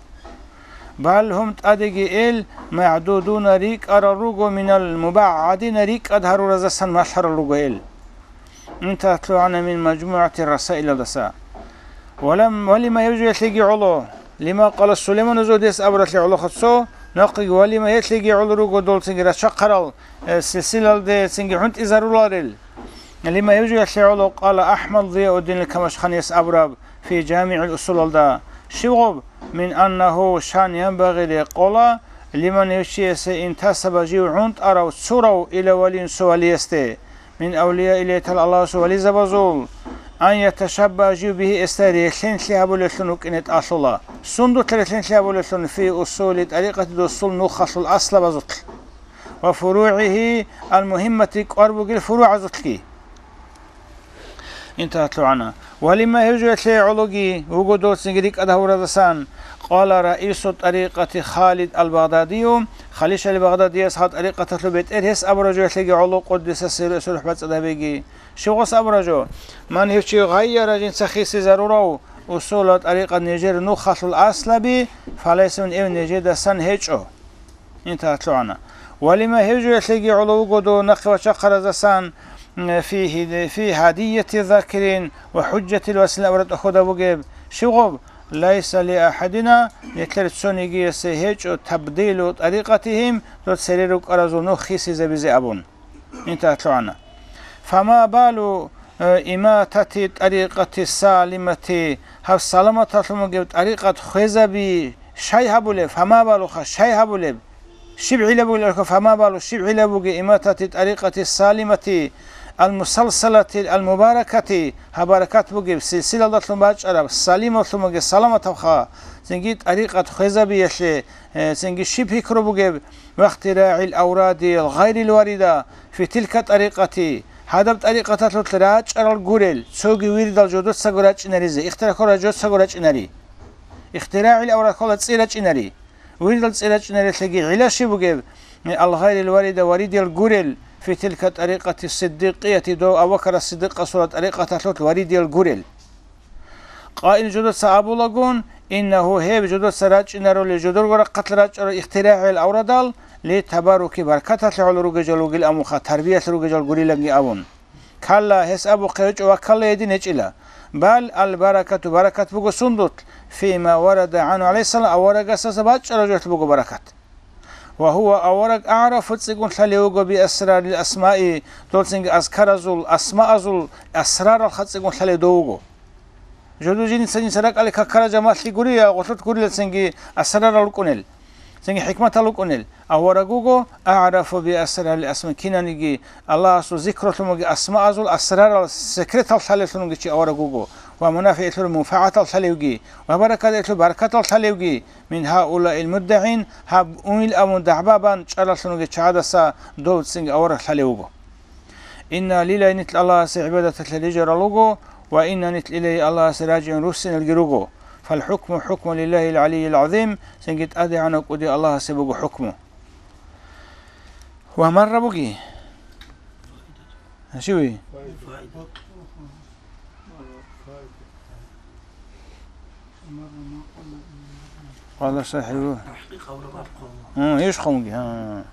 Бал гьум тӀадеги ил магӀдудуна рикӀкӀарал руго минал мубагӀгӀадина рикӀкӀад гьарураздасан малъарал руго ил. Интахъ лъугӀана мин мажмугӀати расаилалдаса. Валам-, валима гьев жуялъеги гӀоло, лима къала Сулайману Зугьдияс абуралъе гӀолохъа цо, нахъеги валима гьелъеги гӀоло руго долцинги рачахъарал, э, силсилалде цинги гӀунтӀизаруларел. Лима гьев жуялъе гӀоло къала АхӀмад Зияуддинил Камашханияс абураб фи ЖамигӀил Усулалда, щиб гъоб, мин аннагьу шан янбагъи рекъола, лиман гьев чиясе интасаба жив гӀунтӀарав цурав ила валиюн цо валиясде, мин авлияиллагьи тагӀала Аллагьасул вализабазул, ан яташабба жив бигьи эсда релълъинлъи гьабулевлъун вукӀине тӀалъула. Сундулъ релълъинлъи гьабулевлъун фи усули тӀарикъати досул нухалъул аслабазулъ ва фуругӀигьи ал-мугьиммати кӀвар бугел фуругӀазулъги. Интахъ лъугӀана. Валима гьев жуялъе гӀологи вуго доцинги рикӀкӀад гьавуразасан, къала раису тӀарикъати Халид ал-Багъдадию, Халид ал-Багъдадияс гьал тӀарикъаталъул бетӀер гьес абураб жуялъеги гӀоло къуддиса сирругьу рухӀ бацӀцӀад гьабеги. Щиб гъос абураб жо? Ман гьев чи гъайяра жинца хисизарурав усула тӀарикъат нижер нухалъул аслаби, фалайса мин эв нижедасан гьечӀо. Интахъ лъугӀана. Валима гьев жуялъеги гӀоло вуго дов нахъе вачахъаразасан, м, фи гьи-, фи гьадияти закирин ва хӀужжатил василин абураб тӀохьода бугеб, щиб гъоб, лайса ли ахӀадина, нилъер цонигиясе гьечӀо табдилу тӀарикъатигьим, дов цере рукӀаразул нух хисизабизе абун. Интахъ лъугӀана. Фама балу, э, иматати тӀарикъати салимати, гьаб саламаталъун бугеб тӀарикъат хвезаби щай гьабулеб? Фама балуха, щай гьабулеб? Щиб гӀилла бугелъулха, фама балу, щиб гӀилла бугеб иматати тӀарикъати салимати, ал-мусалсалати, ал-мубаракати, гьаб баракат бугеб, силсилалдалъун бачӀараб, салималъун бугеб, саламатабха, цинги тӀарикъат хвезабиялъе, э, цинги щиб пикру бугеб, вахтирагӀил авради гъайрил варида фи тилка тӀарикъати, гьадаб тӀарикъаталъулъ рачӀарал гурел, цоги вирдал жодоцаго рачӀинаризе, ихтирагӀ ккола жодоцаго рачӀинари. ИхтирагӀил аврад ккола цӀи рачӀинари. Вирдал цӀи рачӀинарелъеги гӀилла щиб бугеб, ал гъайрил варида варидиял гурел, фи тилка тӀарикъати сиддикъияти дов Абу Бакар ас-Сиддикъасула тӀарикъаталъулъ варидиял гурел. Къаил жодоца абулагун, иннагьу гьеб жодоца рачӀинарули жодорго рахъалъ рачӀарал ихтирагӀил аврадал, ли табаруки баркаталъе гӀоло ругел жал вугил амуха, тарбиялъ ругел жал гурилаги абун. Калла, гьес абухъе гьечӀо ва калла гьедин гьечӀила. Бал ал баракату баракат буго сундулъ, фима варада гӀану гӀалайгьиссалам аварагасаса бачӀараб жоялъ буго баракат. Ва гьува авараг агӀрафу цӀикӀкӀун лъалев вуго би асрарил асмаи, долцинги азкаразул, асмаазул асраралха цӀикӀкӀун лъалев дов вуго. Жодо жинца-жинца ракӀалде какара жамалъи гури, я гъолъулъ гурилацинги асрарал рукӀунел, цинги хӀикматал рукӀунел, авараг вуго агӀрафу би асрарил асма, кинаниги Аллагьасул зикрулъун буги асмаазул асрарал секретал лъалевлъун вуги чи авараг вуго, ва мунафигӀилъул мунфагӀатал лъалевги, ва баракатилъул баракатал лъалевги, мин гьаулаил муддагӀин, гьаб унил абун дагӀба бан чӀаралъун вуги чагӀадаса дов цинги авараг лъалев вуго. Инна лилай нилъ Аллагьасе гӀибадаталъе рижарал руго, ва инна нилъ илайгьи Аллагьасе ражигӀун руссиналги руго. ФалхӀукму хӀукму лиллагьил гӀалийил гӀазим, цинги ТӀадегӀанав КӀуди Аллагьасе буго хӀукму. Ва марра буги. Гьашиви? Къала сахӀибу. Гьу, иш хъумги, гьа.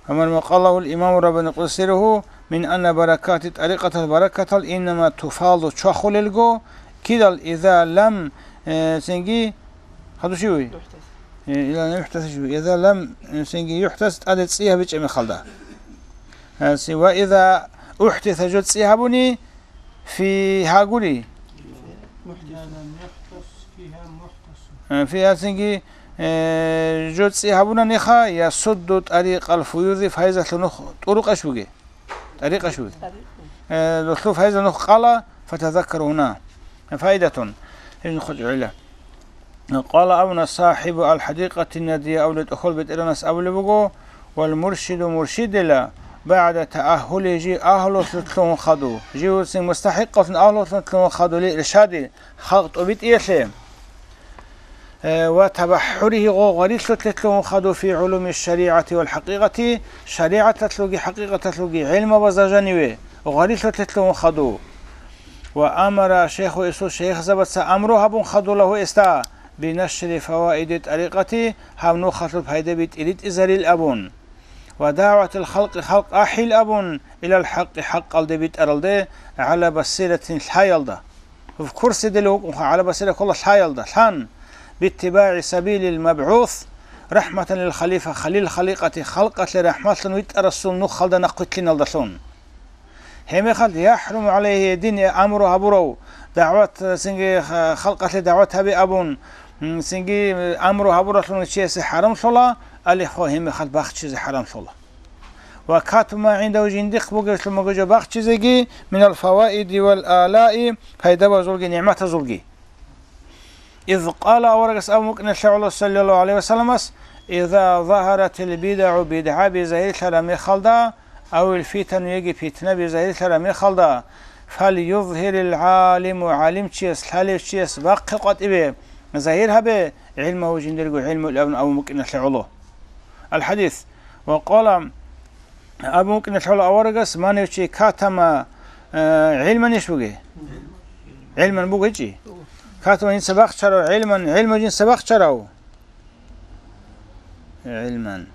Амма ма къалаһул имаму Раббани къуддиса сирругьу мин анна баракати тӀарикъатал баракатал иннама туфаду чвахулелго, кидал иза лам, э, цинги, хадушиви? Э, ила лам юхӀдас шуви. Иза лам, э, цинги юхӀдас тӀаде цӀи гьабичӀеб мехалда. Э, ци-, ва иза ухӀдиса жо цӀи гьабуни, фи гьагури. Э, фи гьацинги, э, жо цӀи гьабунаниха, я судду тӀарикъал фуюзи файзалъу нух тӀурукъаш буги. ТӀарикъаш буги. Э, лулъу файза нух къала, фатазаккару гьуна. Файдатун. Гьеб нух гӀула. Къала абуна сахӀибу ал-хӀадикъати надия абулеб тӀохьол бетӀеранас абулеб буго, вал муршиду муршидила, багӀда таахӀули жи агьлулъун лъугьун хаду, жи вуцин мустахӀикъалъун агьлулъун лъугьун хадули иршади, халкъ тӀубитӀиялъе, э, ва табахӀуриги гъо гъварилъулъе лъугьун хаду фи гӀулуми шаригӀати вал хӀакъикъати, шаригӀаталъулги хӀакъикъаталъулги гӀилмабазда жаниве гъварилъулъе лъугьун хаду. Ва амара шейху, эсул шейхзабаца амру гьабун хадула гьесда, бинашри фаваиди тӀарикъати, гьаб нухалъул пайдаби тӀиритӀизарил абун. Ва дагӀватил халкъи, халкъ ахӀил абун, илал хӀакъи, хӀакъалде битӀаралде, гӀала басиратин, лъаялда. В курсе дила вукӀунха, гӀала басира ккола лъаялда, лъан, биттибагӀи сабилил мабгӀус, рахӀматан лил халифа, халил халикъати, халкъалъе рахӀматлъун витӀарасул нухалда нахъвилълъиналдалъун. Гьебмехалъ яхӀруму гӀалайгьи, дин амру гьабурав, дагӀват, цинги халкъалъе дагӀват гьабе абун, м, цинги амру гьабуралъун чиясе хӀарамлъула, алихо гьебмехалъ бахчизе хӀарамлъула. Ва катума гӀиндагьу, жиндихъ бугеблъун буго жо бахчизеги, минал фаваиди вал алаи, пайдабазулги нигӀматазулги. Из къала, аварагас абун букӀиналъе гӀоло, саллаллагьу гӀалайгьи ва салламас, иза загьаратил бидагӀу, бидгӀаби загьирлъараб мехалда, авил фитану, яги питнаби загьирлъараб мехалда, фальюзгьирил гӀалиму, гӀалимчияс, лъалевчияс бахъе къватӀибе, загьир гьабе, гӀилмагьу, жиндирго гӀилму, абун абун букӀиналъе гӀоло. Аль-хадис. Ва къала, абун букӀиналъе гӀоло аварагас, манев чи катама, э, гӀилманищ бугеб? ГӀилман бугечӀи. Катама жинца бахчарав, гӀилман, гӀилму жинца бахчарав. ГӀилман.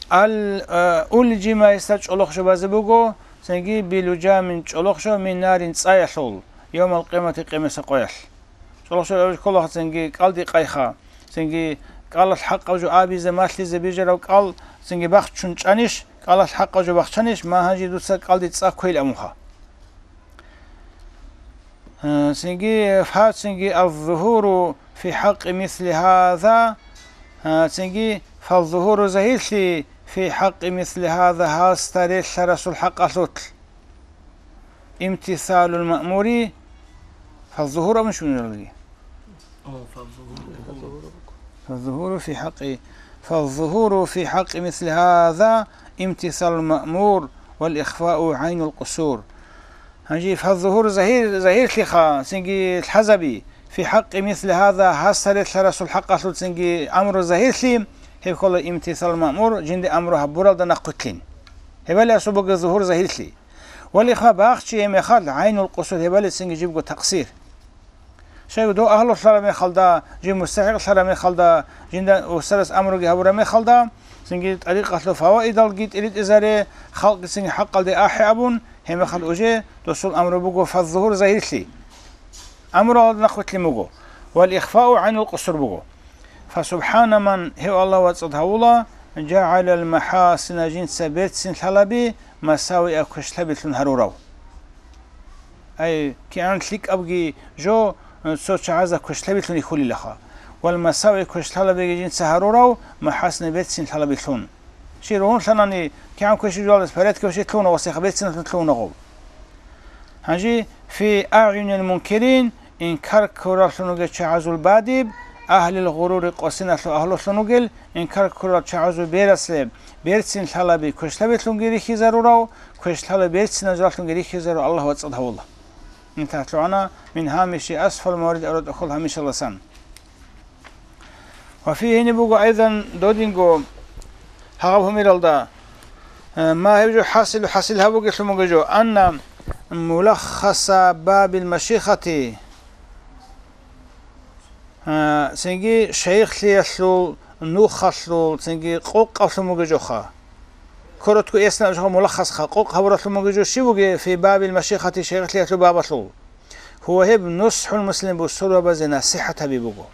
Ал, э, улжима, гьесда чӀолохъ жо базе буго, цинги билужамин, чӀолохъ жо, мин нарин, цӀаялъул, явмал къиямати, къемеса къоялъ. ЧӀолохъ жо абизе ккола, цинги кӀалдикъайха, цинги кӀалалъ хӀакъаб жо абизе, малъизе бижарав кӀал, цинги бахчун чӀанищ, кӀалалъ хӀакъаб жо бахчанищ, ма гьанже дуца кӀалди цӀа кквейил абунха. Э, цинги, фа, цинги, алзугьуру фи хӀакъи мисли гьаза, э, цинги, фалзугьуру, загьирлъи, фи хӀакъи мисли гьаза, гьасда релълъарасул хӀакъалъулъ. Имтисалул маъмури, фалзугьур абун щунаралги. О, фалзугьур. Фалзугьуру фи хӀакъи, фалзугьуру фи хӀакъи мисли гьаза имтисалул маъмур вал ихфау гӀайнул къусур. Гьанже фалзугьур, загьир, загьирлъиха, цинги лъазаби, фи хӀакъи мисли гьаза, гьасда релълъарасул хӀакъалъулъ цинги амру загьирлъи, гьеб ккола имтисалул маъмур, жинде амру гьабуралда нахъвилълъин. Гьебали асубаги зугьур загьирлъи. Валихъа бахчи гьеб мехалъ гӀайнул къусур, гьебали цинги жибго такъсир. Щайгу дов агьлулъараб мехалда, жив мустахӀикълъараб мехалда, жинда устарас амруги гьабураб мехалда, цинги тӀарикъалъул фаваидалги тӀиритӀизаре, халкъги цинги хӀакъалде ахӀе абун, гьеб мехалъ уже досул амру буго фаззугьур загьирлъи. Амру гьалда нахъвилълъин буго, вал ихфау гӀайнул къусур буго. Фасубхана ман, гьев Аллагь вацӀцӀад гьавула, жагӀалал махӀасина, жинца берцин лъалаби, масавиа, квешлъабилъун гьарурав. Ай, кигӀан лъикӀабги жо, цо чагӀазда квешлъабилъун рихьулилаха. Вал масави, квешлъалабиги жинца гьарурав, махӀасина, берцин лъалабилъун. Чи ругьунлъанани, кигӀан квеши жугьалдас порядке ващи лъугьуна ва сиха берцинлъун лъугьунагъу. Гьанже, фи агӀюнил мункирин, инкар ккураллъун вугев чагӀазул бадиб, агьлил гъурури, къосиналъул агьлулъун вугел, инкар ккурал чагӀазул бераслъе, берцин лъалаби квешлъабилъунги рихьизарурав, квешлъала берциназуллъунги рихьизарурав Аллагь вацӀцӀад гьавула. МинтахӀлъугӀана, мин гьамиши асфал маврид, арутӀахъул гьамишаласан. Ва фи, гьениб буго, айзан, додинго гьагъаб гьумералда, э, ма гьеб жо хӀасил, хӀасил гьабугелъун буго жо, анна мулаххаса бабил машихати, э, цинги шайихлъиялъул, нухалъул, цинги къокъалъун буго жоха. Коротко эсна жоха мулаххасха, къокъ гьабуралъун буго жо щиб буге, фи бабил машихати, шайихлъиялъул бабалъул. Гьува гьеб нусхӀул муслим, бусурбабазе насихӀат гьаби буго.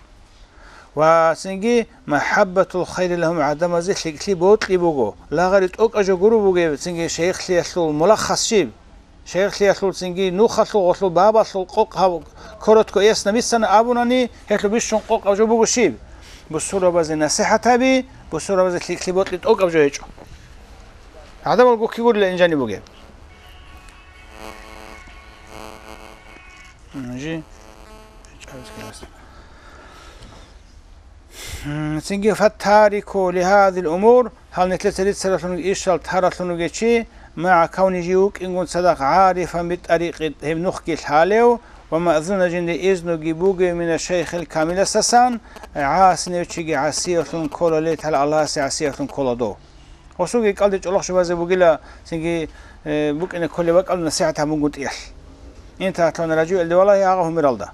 Ва цинги, махӀаббатул хайри лагьум, гӀадамазе лъикӀлъи бокьи буго, лагъари тӀокӀаб жо гуро бугеб, цинги шайихлъиялъул мулаххас щиб? Шайихлъиялъул цинги нухалъул гъолъул бабалъул къокъ гьаб-, коротко эсна бицана абунани, гьелъул бищун къокъаб жо буго щиб? Бусурбабазе насихӀат гьаби, бусурбабазе лъикӀлъи бокьи тӀокӀаб жо гьечӀо. ГӀадамал гукки гурила инжани бугеб. Жи. М, цинги фаттарику лигьадил умур, гьал нилъеца рицаралъун ишал таралъун вугев чи, магӀа кавни жив вукӀингун цадахъ гӀарифан битӀарикъи, гьеб нухги лъалев ва маъзуна жинде изнуги бугев мина шайхил камиласасан, гӀасинев чиги гӀасиявлъун ккола, летал Аллагьасе гӀасиявлъун ккола дов. Гъосулги кӀалдичӀ олохъ шубазе бугила, цинги, э, букӀине кколеб бакӀал насихӀат гьабунгутӀиялъ. Интахлъун ражу илди валагьи гьагъа гьумералда.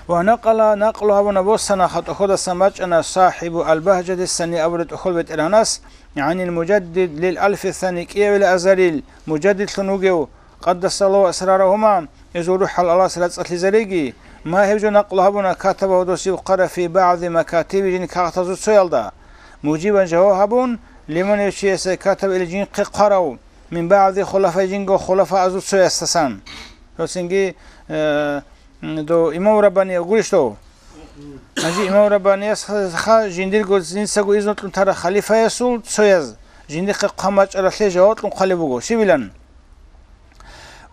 Ва накъала, накълу гьабуна, боссана, хатӀухьудасан бачӀана сахӀибу албагьжадисани абураб тӀохьол бетӀергьанас, гӀанил мужаддид лил алфи сани, кӀиявила азарил мужаддидлъун вугев, къаддасаллагьу асрарагьума, изул рухӀал Аллагьас рацӀцӀалъизариги, ма гьеб жо накълу гьабуна, катабагьу дос гьеб хъвараб фи багӀзи макатиби, жиндир кагътазул цоялда, мужибан, жаваб гьабун, лиман, гьев чиясе, катаба, ил, жинхъе хъварав, мин багӀзи хулафаи, жинго хулафаазул цоясдасан. Гьесинги, э, м, дов имам Раббаниев гурищ дов? Гьанже имам Раббаниевсха жиндирго, жинцаго изну кьун тарав халифаясул цояз жиндихъе хъван бачӀаралъе жаваб кьун хъвалеб буго. Щибилан?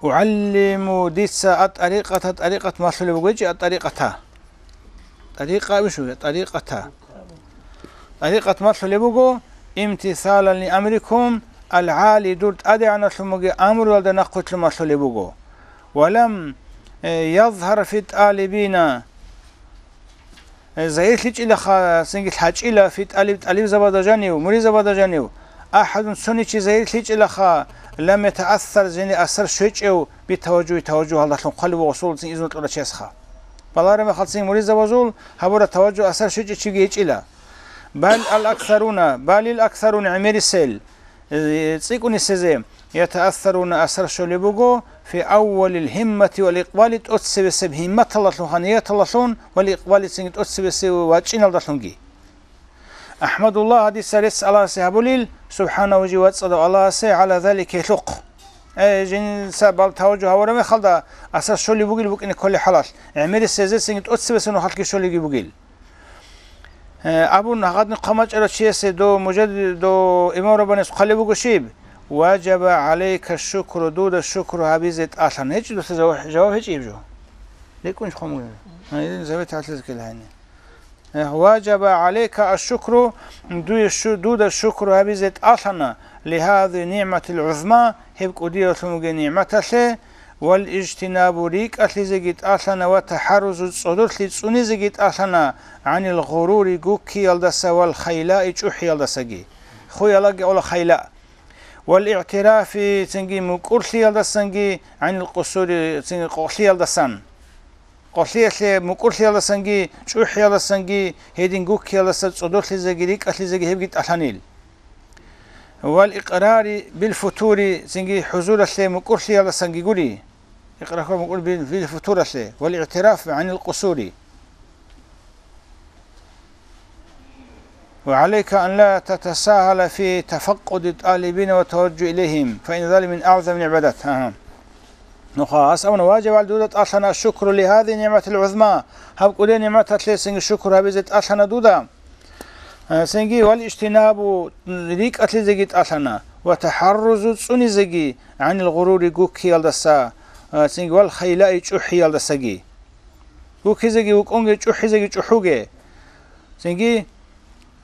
УгӀаллиму, дица, ат-тӀарикъата, тӀарикъат малъулеб буго, гьечӀи, ат-тӀарикъата. ТӀарикъа абишу, тӀарикъата. ТӀарикъат малъулеб буго, имтисалан ли амрикум, алгӀали, дур тӀадегӀаналъун бугеб амруялда нахъвилълъун малъулеб буго. Ва лам, э, язгьар фи тӀалибина, э, загьирлъичӀилаха, цинги лъачӀила фи тӀалиб, тӀалибзабазда жанив, муридзабазда жанив, ахӀадун, цониги чи загьирлъичӀилаха, лам ятаассар, жиндие асар щвечӀев, битаважжугьи, таважжугьалдалъун хъвалеб буго, гъосул цин изну кьурав чиясха. Балагьараб мехалъ цин муридзабазул гьабураб таважжугь, асар щвечӀев чиги гьечӀила. Бал ал-аксаруна, балил аксаруна, гӀемерисел, э, цӀикӀкӀунисезе, ятаассаруна, асар щолеб буго, фи аввалил гьиммати вал икъбали, тӀоцебесеб гьимматалдалъун, нияталдалъун, вал икъбали, цинги тӀоцебесеб вачӀиналдалъунги. АхӀмадуллагь, дица рецц Аллагьасе гьабулел, субхӀанагьу, жив вацӀцӀадав Аллагьасе, гӀала залика, гьелъухъ. Э, жинца бал таважжугь гьабураб мехалда, асар щолеб бугел букӀине кколеб хӀалалъ, гӀемерисезецинги тӀоцебесеб нухалъги щолебги бугел. Э, абун гьагъадин хъван бачӀарав чиясе, дов мужаддид, дов имам Раббаниевс хъвалеб буго щиб? Важаба гӀалайка шукру, дуда шукру гьабизе тӀалъана. ГьечӀо дуца жаваб, жаваб гьечӀеб жо? РекӀунищ хъван бугеб? Гьанже завет гьалъизе ккела гьаниб. Э, важаба гӀалайка аш-шукру, дуе шу-, дуда шукру гьабизе тӀалъана, лигьази нигӀматил гӀузма, гьеб кӀудиявлъун бугеб нигӀматалъе, вал ижтинабу, рикӀкӀалъизеги тӀалъана, ва тахӀаррузу, цӀодорлъи цӀунизеги тӀалъана, гӀанил гъурури, гуккиялдаса, вал хайлаи, чӀухӀиялдасаги. Хуялаги ола хайла. Вал игӀтирафи, цинги мукӀурлъиялдасанги, гӀанил къусури, цинги къокълъиялдасан. Къокълъиялъе, мукӀурлъиялдасанги, чӀухӀиялдасанги, гьедин гуккиялдаса цӀодорлъизеги рикӀкӀалъизеги гьебги тӀалъанил. Вал икърари бил футури, цинги хӀузуралъе мукӀурлъиялдасанги гури. Икърар мукӀур бил, бил футуралъе, вал игӀтираф гӀанил къусури. وعليك أن لا تتساهل في تفقد الطالبين والتوجه إليهم، فإن ذلك من أعظم العبادات. Агьа. Нуха, гьас абуна, важиб гӀал дуда тӀалъана الشكر لهذه النعمة العظمى, гьаб кӀудияб нигӀматалъе цинги шукр гьабизе тӀалъана дуда. Э, цинги, والاجتناب, рикӀкӀалъизеги тӀалъана, وتحرز, цӀунизеги, عن الغرور, гуккиялдаса, э, цинги, والخيلاء, чӀухӀиялдасаги. Гуккизеги вукӀунге, чӀухӀизеги чӀухӀуге. Цинги,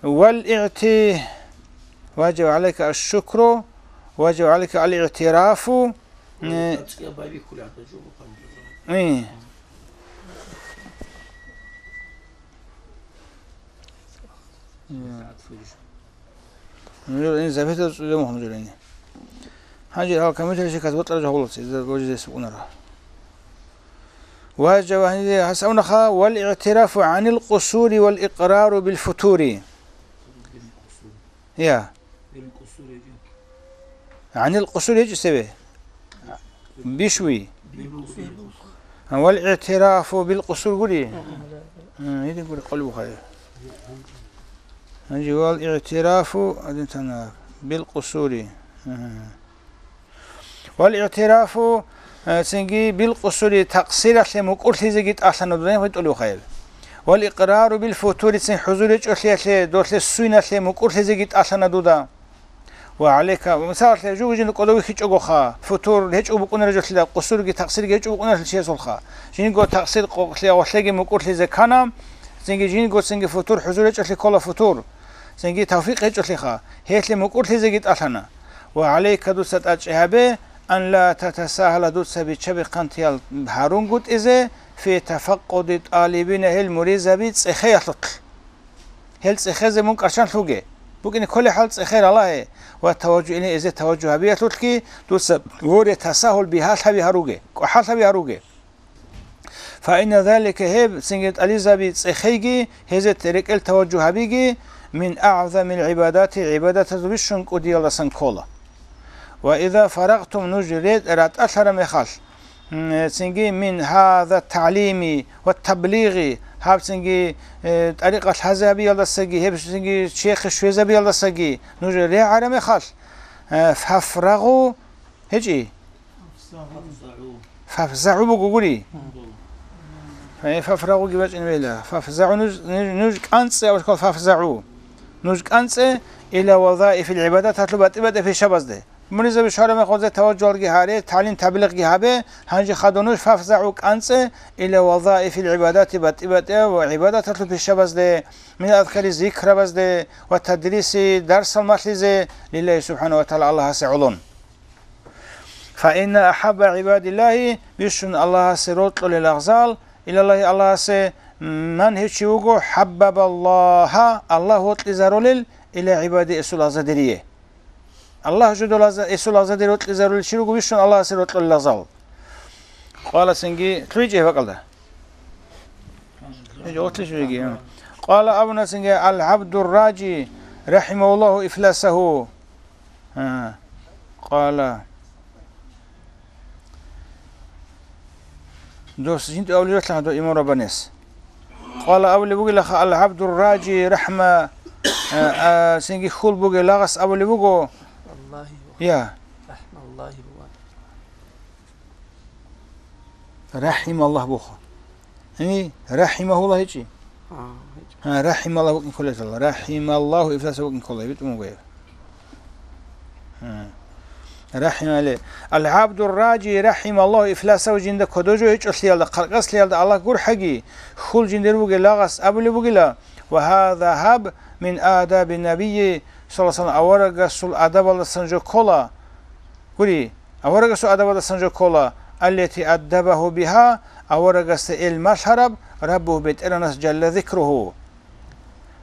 والاعت-, واجب عليك الشكر، واجب عليك الاعتراف. Э, э. Нужер ин запятая цӀуде мухӀ нужер ин. Гьанже гьал компьютере щеказ батӀара жагьулац, изда гожизе сукӀунара. Ва жавагьнизе гьасавнаха вал игӀтирафу гӀанил къусури вал икърару бил футури. Я. ГӀанил къусури гьечӀо цебе. Бишви. Вал игӀтирафу бил къусур гури. Гьедин гури къулбухъай. Гьанже вал игӀтирафу, адин тана, бил къусури. Вал игӀтирафу, э, цинги бил къусури, такъсиралъе мукӀурлъизеги тӀалъана дуда, гьитӀулев хайр. Вал икърару бил футури, цин хӀузур гьечӀолъиялъе, долъе суйналъе мукӀурлъизеги тӀалъана дуда. Ва гӀалейка, мисалалъе, жугьу-жинда кӀодов вихьичӀогоха, футур гьечӀого букӀунареб жолъила, къусурги такъсирги гьечӀого букӀунарелъул чиясулха. Жинго такъсир къокълъи гъолъеги мукӀурлъизе ккана, цинги жинго цинги футур хӀузур гьечӀолъи ккола футур, цинги тавфикъ гьечӀолъиха, гьелъе мукӀурлъизеги тӀалъана. Ва гӀалейка, дуца тӀадчӀи гьабе, ан ла татасагьала, дуца биччаби хъантиял гьарунгутӀизе, фи тафаккъуди тӀалибина, гьел муризаби цӀехеялъулъ. Гьел цӀехезе мун кӀарчӀан лъуге. букӀине кколей хӀал цӀехе ралагье ва таважжу илей эзе таважжу гьабиялъулъги дуца воре тасагьул бигьалъаби гьаруге, кӀвахӀалъаби гьаруге. Фаинна залика гьеб цинги тӀализаби цӀехейги, гьезе рекӀел таважжу гьабиги, мин агӀзамил гӀибадати гӀибадатазул бищун кӀудиялдасан ккола. Ва иза фарагътум нуж ретӀ ратӀалъараб мехалъ, м, цинги мин гьаза тагӀлими ва таблигъи, гьаб цинги, э, тӀарикъат лъазе гьабиялдасаги, гьеб цинги чехъе щвезабиялдасаги нуж регӀараб мехалъ, э, фафрагъу, гьечӀи? ФафзагӀу буго гури. Э, фафрагъуги бачӀин вела. ФафзагӀу нуж, нуж, нуж кӀанцӀе, абулеб ккола фафзагӀу. Нуж кӀанцӀе, ила вазаифил гӀибадат, гьалъул батӀи-батӀи пишабазде. Мунизаби швараб мехалъ гьезда таважжугьалги гьаре, тагӀлим-таблигъги гьабе, гьанже хадур нуж фафзагӀу кӀанцӀе, ила вазаифил гӀибадати, батӀи-батӀи ва гӀибадаталъул пишабазде, мин азкари зикрабазде ва тадриси дарсал малъизе, лиллагьи субхӀана ва тагӀала Аллагьасе гӀоло. Фаинна ахӀабба гӀибадиллагьи, бищун Аллагьасе рокьулел лагъзал, илаллагьи Аллагьасе, ман гьев чи вуго, хӀаббабаллагьа, Аллагь вокьизарулел, ила гӀибади эсул лагъзадерие. Аллагь жодолаза-, эсул лагъзадер вокьизарулел чи руго бищун Аллагьасе рокьулел лагъзал. Къала цинги, лъугьичӀеб бакӀалда. ЛъугьичӀеб, лъугьичӀеб. Къала абуна цинги, ал-гӀабдур-ражи, рахӀимагьуллагьу ифласагьу. А, къала. Дос жинда авлиялъа гьадо имам Раббанияс. Къала абулеб бугелаха, ал-гӀабдур-ражи рахӀма, а, а, цинги хьул бугел лагъас абулеб буго. Аллагьи ва Я. РахӀмаллагьи ва. РахӀималлагь бухъа. Яни, рахӀимагьуллагь гьечӀи? А, гьечӀо. А, рахӀималлагь букӀин кколесала. РахӀималлагьу ифласа букӀин ккола, битӀун буго гьеб. А. РахӀимале. Ал-гӀабдур-ражи рахӀималлагьу ифласагьу жинда кодо жо гьечӀолъиялда, хъаркъаслъиялда Аллагь гурхӀаги, хьул жиндир бугел лагъас абулеб бугила, ва гьаза гьаб мин адаби набийи, саллаллагьу гӀалайгьи ва саллам, аварагасул адабалдасан жо ккола. Гури, аварагасул адабалдасан жо ккола, аллати аддабагьу бигьа, аварагасда ил малъараб, Раббугьу БетӀергьанас жалла зикругьу.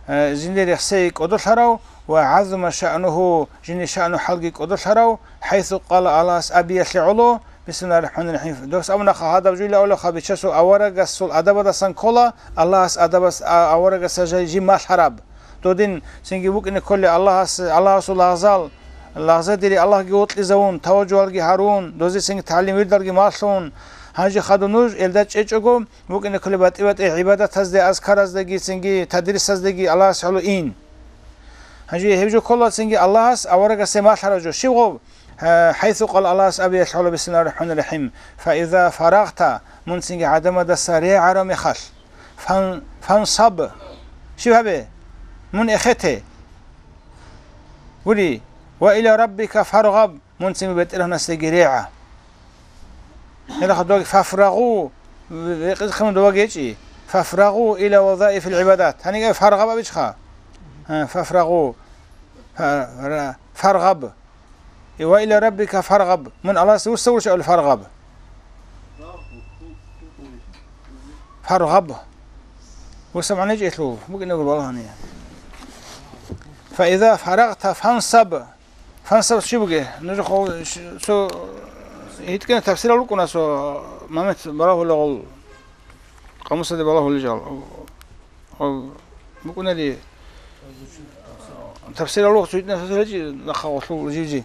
Э, жиндир рехсей кӀодолъарав ва гӀаззума шаънугьу, жиндир шаъну хӀалги кӀодолъарав, хӀайсу къала Аллагьас абиялъе гӀоло, бисмиллагьир рахӀманир рахӀим. Дос абунаха гьадаб жуйла авлаха бичасул аварагасул адабалдасан ккола, Аллагьас адабас, а, аварагасда жай жиб малъараб. Додин цинги букӀине кколей Аллагьас, Аллагьасул лагъзал, лагъзадери Аллагьги вокьизавун, таважжугьалги гьарун, дозе цинги тагӀлим-вирдалги малъун. Гьанже хадур нуж элда чӀечӀого, букӀине кколей батӀи-батӀи гӀибадатазде, азкараздеги, цинги тадрисаздеги Аллагьас гӀоло ин. Гьанже гьеб жо ккола цинги Аллагьас аварагасде малъараб жо. Щиб гъоб? Гьа, хӀайсу къала Аллагьас абиялъ гьола, бисмиллагьир рахӀманир рахӀим. Фаиза фарагъта, мун цинги гӀадамадаса регӀараб мехалъ, фан-, фансаб. Щиб гьабе? Мун эхете. Гури, ва иля раббика фаргъаб, мун цинги БетӀергьанасдаги регӀа. Гьелаха доги фафрагъу, рекъезехъе мун доваги гьечӀи. Фафрагъу иля вазаифил гӀибадат. Гьаниги фаргъаб абичӀха. Гьа, фафрагъу. Фа-, ра-, фаргъаб. Ва иля раббика фаргъаб. Мун Аллагьасде вуссавурищ абули фаргъаб? Фаргъаб. Вуссаб гӀаничӀелъул букӀине гур балагьани. Фаиза фарагъта фансаб. Фансаб чи буге? Нуж хо-, ш-, цо гьитӀкӀина тафсирал рукӀуна цо момент балагьулагъул, къамусаде балагьулел жал. О, букӀунали тафсирал рукъ цо гьитӀкӀина тафсир гьечӀи нахъа гъолъул жив-жив.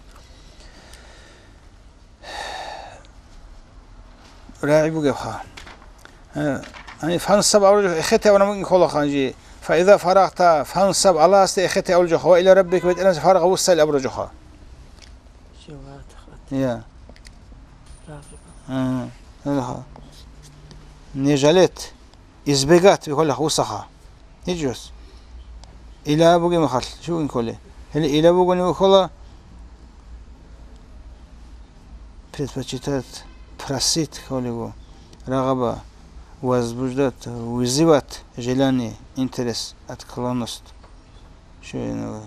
РагӀи бугебха. Э, гьаниб фансаб абураб жо эхете абуна мукӀин кколаха гьанже. Фаиза фарагъта фансаб, Аллагьасде эхете абураб жоха, ва иля раббика, БетӀергьанасде фаргъа вуссайил абураб жоха. Я. А, гьелаха. Не жалеть. Избегать бихьулаха вуссаха. ГьечӀос. Иля бугеб мехалъ, щиб букӀин кколей? Гьеле иля бугони бихьула предпочитать, просить кколего, рагъаба, возбуждать, вызывать желание, интерес, отклонность. Щиб гьенив?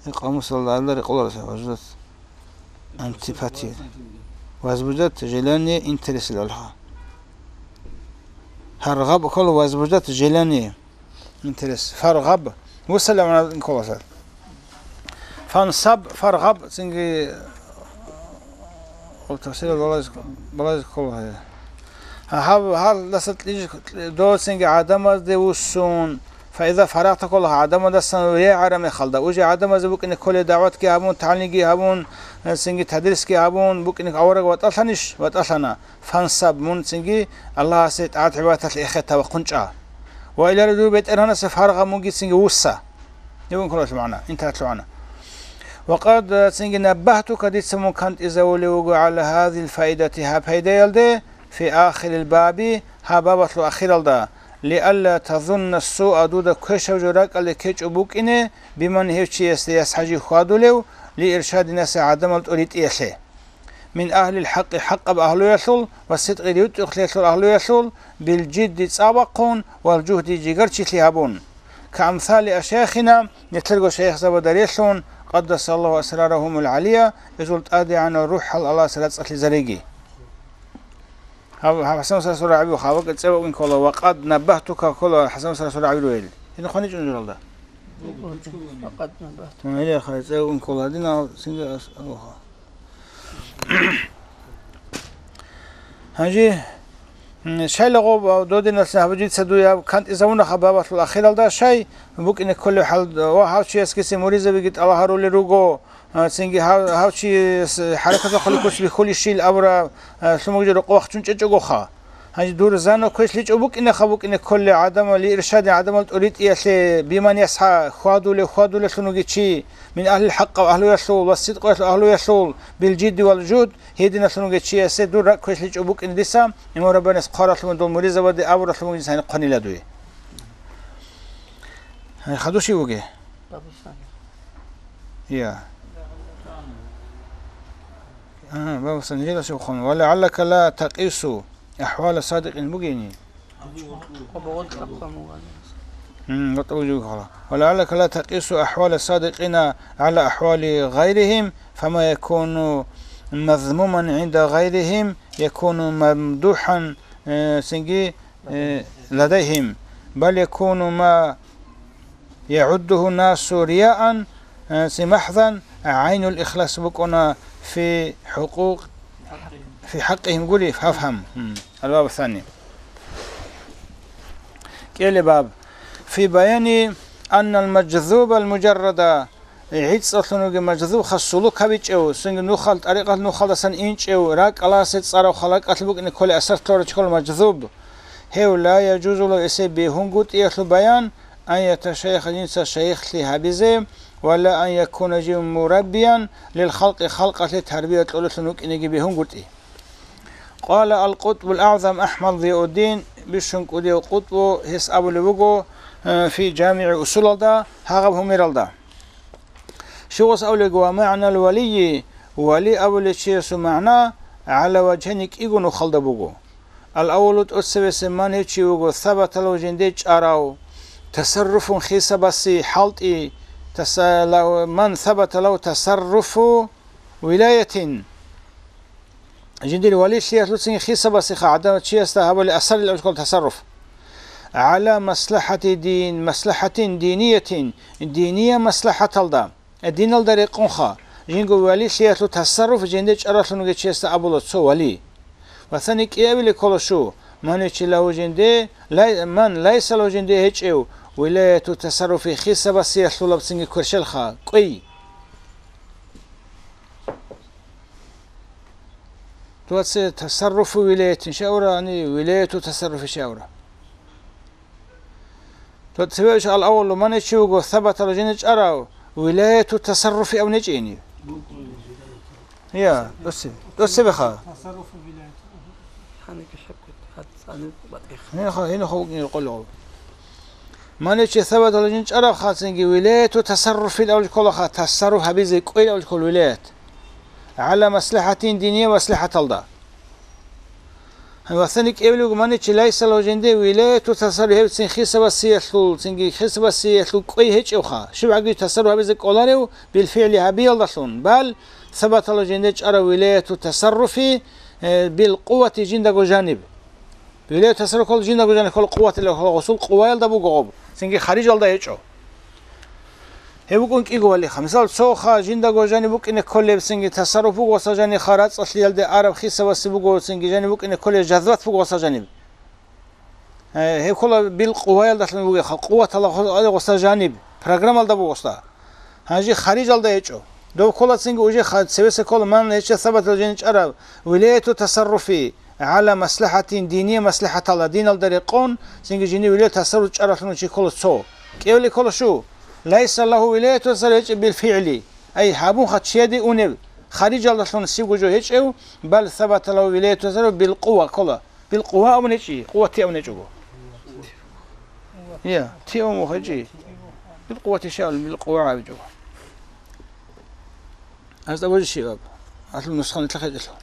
Э, къамусалда гьалда рекъолараса возбуждать. Антипатия. Возбуждать желание, интерес лъалха. Фаргъаб ккола возбуждать желание, интерес. Фаргъаб. Вуссала мана кколаса. Фансаб, фаргъаб, цинги, о, тафсирал балаз, балаз ккола. Гьаб, гьалдаса кьиж-, дов цинги гӀадамазде вуссун, фаиза фарагъта ккола гӀадамадасан регӀара мехалда. Уже гӀадамазе букӀине кколе дагӀватги гьабун, тагӀлимги гьабун, цинги тадрисги гьабун, букӀине авараг ватӀалъанищ? ВатӀалъана. Фансаб, мун цинги Аллагьасе тӀагӀат-гӀибадаталъ эхета ва хъунчӀа. Ва илари дур БетӀергьанасе фаргъа, мунги цинги вусса. Дигун кколалъ магӀна, инталъ магӀна. Ва къад, цинги наббагьтука, дица мун кантӀизавулев вуго гӀала гьазил фаидати, гьаб пайдаялде, фи ахирил баби, гьаб бабалъул ахиралда, лиалла тазунна суа, дуда квешав жо ракӀалде ккечӀо букӀине, биман, гьев чиясде, ясгӀа жив хьвадулев, ли иршадинасе, гӀадамал тӀоритӀиялъе. Мин агьлил хӀакъи, хӀакъаб агьлуялъул ва сидкъи, ритӀухълъиялъул агьлуялъул, бил жидди, цӀа бахъун, вал жугьди, жигарчилъи гьабун. Ка амсали ашайхина, нилъерго шайихзабазда релълъун, къаддасаллагьу асрарагьумул гӀалия, гьезул тӀадегӀанал рухӀал Аллагьас рацӀцӀалъизариги. Гьаб, гьаб ХӀасан Расул гӀаби, хабакъ цӀе вукӀин ккола, ва къад наббагьтука ккола ХӀасан Расул гӀаби ругел. Гьениб хъваничӀун журалда. Ва къад наббагьтука. Гьеле хъай цӀе вукӀин ккола, гьадинал цинги ас-, Гьанже, м, шайлагъо додиналъе гьаб жица дуе гьаб кантӀизавуна гьаб бабалъул ахиралда, шай букӀине кколеб хӀал ва гьав чиясгиси муридзабиги тӀалаб гьарулел руго, а, цинги гьав, гьав чияс хӀаракаталъухъ куц бихьулищил абураб, а, лъумагӀжи рокъов вахчун чӀечӀогоха. Гьанже дур зана квешлъичӀо букӀинеха букӀине кколел гӀадамал, иршадин гӀадамал тӀоритӀиялъе, биман ясгӀа, хьвадулев, хьвадулелъун вугев чи, мин агьлил хӀакъаб агьлуялъул ва сидкъоялъул агьлуялъул, бил жидди вал жугьд, гьединалъун вугев чиясе дур ракӀ квешлъичӀо букӀине диса, имам Раббанияс хъваралъумадул муридзабазде абуралъумагӀжи гьаниб хъванила дуе. Гьаниб хадув щив вугев? Бабусани. Я. А, бабусани, жила щив хъван. Ва лагӀаллака ла такъису ахӀвала садикъин бугени? М, гъотӀа вужугухъала. Ва лагӀаллака ла такъису ахӀвала садикъина гӀала ахӀвали гъайрихим, фама якуну мазмуман гӀинда гъайрихим, якуну мамдухӀан, э, цинги, э, ладайхим, бал якуну ма ягӀуддугьу насу рияан, э, ци махӀзан, гӀайнул ихлас букӀуна фи хӀукъукъ-, фи хӀакъигьим гури, фафгьам. М, албаб сани. КӀелеб баб. Фи баяни аннал мажзубал мужаррада, гӀицӀалъун вугев мажзуб хас сулук гьабичӀев, цинги нухал, тӀарикъат нухалдасан инчӀев, ракӀаласе цӀарав халакъалъ букӀине кколей асарлъорачӀ ккола мажзуб. Гьев ла яжузулав эсе бегьунгутӀиялъул баян, ан яташайяха жинца шайихлъи гьабизе, ва ла ан якуна жив мураббиян лил халкъи халкъалъе тарбия кьолелъун вукӀинеги бегьунгутӀи. Къала ал-КъутӀбул АгӀзам АхӀмад Зияуддин, бищун кӀудияв КъутӀбу, гьес абулеб буго, э, фи ЖамигӀи Усулалда, гьагъаб гьумералда. Щугъас абулеб буго, ва магӀнал валийи, вали абулев чиясул магӀна, гӀала важгьайни, кӀиго нухалда буго. Ал-аввалу, тӀоцебесеб, ман гьев чи вуго, сабаталав жинде чӀарав, тасарруфун, хисабаси хӀалтӀи, таса-, лав-, ман сабаталав тасарруфу вилаятин. Жиндир валилъиялъуцин хисабасеха гӀадамал чиясда гьабулеб асарил абулеб ккола тасарруф. ГӀала маслахӀати дин, маслахӀатин диниятин, диниял маслахӀаталда, э, диналда рекъонха, жинго валилъиялъул тасарруф жинде чӀаралъун вугев чиясда абула цо вали. Ва цани кӀиабилеб ккола щу, ман гьечи лагьу жинде, лай-, ман лайса лагьу жинде гьечӀев, вилаяту тасарруфи, хисабасиялъулабцинги кверщелха, кӀвей. Дуца тасарруфу вилаятин щай абура, гьани вилаяту тасарруфи щай абура. Дуца цеве иш ал-аввалу, ман гьечи вуго, сабатала жине чӀарав, вилаяту тасарруфи абун гьечӀени. Я, дуца, дуца цебеха. Гьаниб хӀебкӀи, гьацӀаниб батӀиха. Гьениб ха-, гьениб ха букӀин къоло. Ман гьечи сабатала жин чӀарав хацинги вилаяту тасарруфил авлукколаха, тасарруф гьабизе кӀвел авлуккол вилаят. ГӀала маслахӀатин, диниял маслахӀаталда. Ва цани кӀевлугу, ман гьечи лайсала жинде вилаяту тасарруф гьебцин хисабасиялъул, цинги хисабасиялъул кӀвей гьечӀевха, щибгӀаги тасарруф гьабизе кӀоларев билфигӀли гьабиялдалъун, бал сабатала жинде чӀарав вилаяту тасарруфи, э, бил къувати жиндаго жаниб. Вилаяту тасарруф ккола жиндаго жаниб ккола, къуватила ккола, гъусул къуваялда буго гъоб, цинги харижалда гьечӀо. Гьеб букӀун кӀиго валиха. Мисал, цоха жиндаго жаниб букӀине кколеб цинги тасарруф буго гъоса жаниха, рацӀцӀалъиялде араб хисабасе буго цинги жаниб букӀине кколеб жазват буго гъоса жаниб. Э, гьеб ккола билкъуваялдалъун бугеха, къуваталда гъо-, гъоса жаниб, программалда буго гъоса. Гьанже харижалда гьечӀо. Дов ккола цинги уже ха-, цевеса ккола ман гьечӀеб сабатал жин чӀарав, вилаяту тасарруфи гӀала маслахӀатин, диние маслахӀаталда, диналда рекъон, цинги жиндир вилаят тасарруф чӀаралъун чи ккола цо. КӀевли ккола шу, лайса лагьу вилаяту тасарруф гьечӀеб билфигӀли, ай гьабунха чияде унеб, харижалдалъун сибго жо гьечӀев, бал сабата лагьу вилаяту тасарруф билкъува ккола. Билкъува абун гьечӀи, къуватти абун гьечӀого. Я, ти абун гьечӀи. Билкъуватти шаул, билкъува абичӀого. Аз абури шиваб. Алъул нусхани лъахъичӀелъул.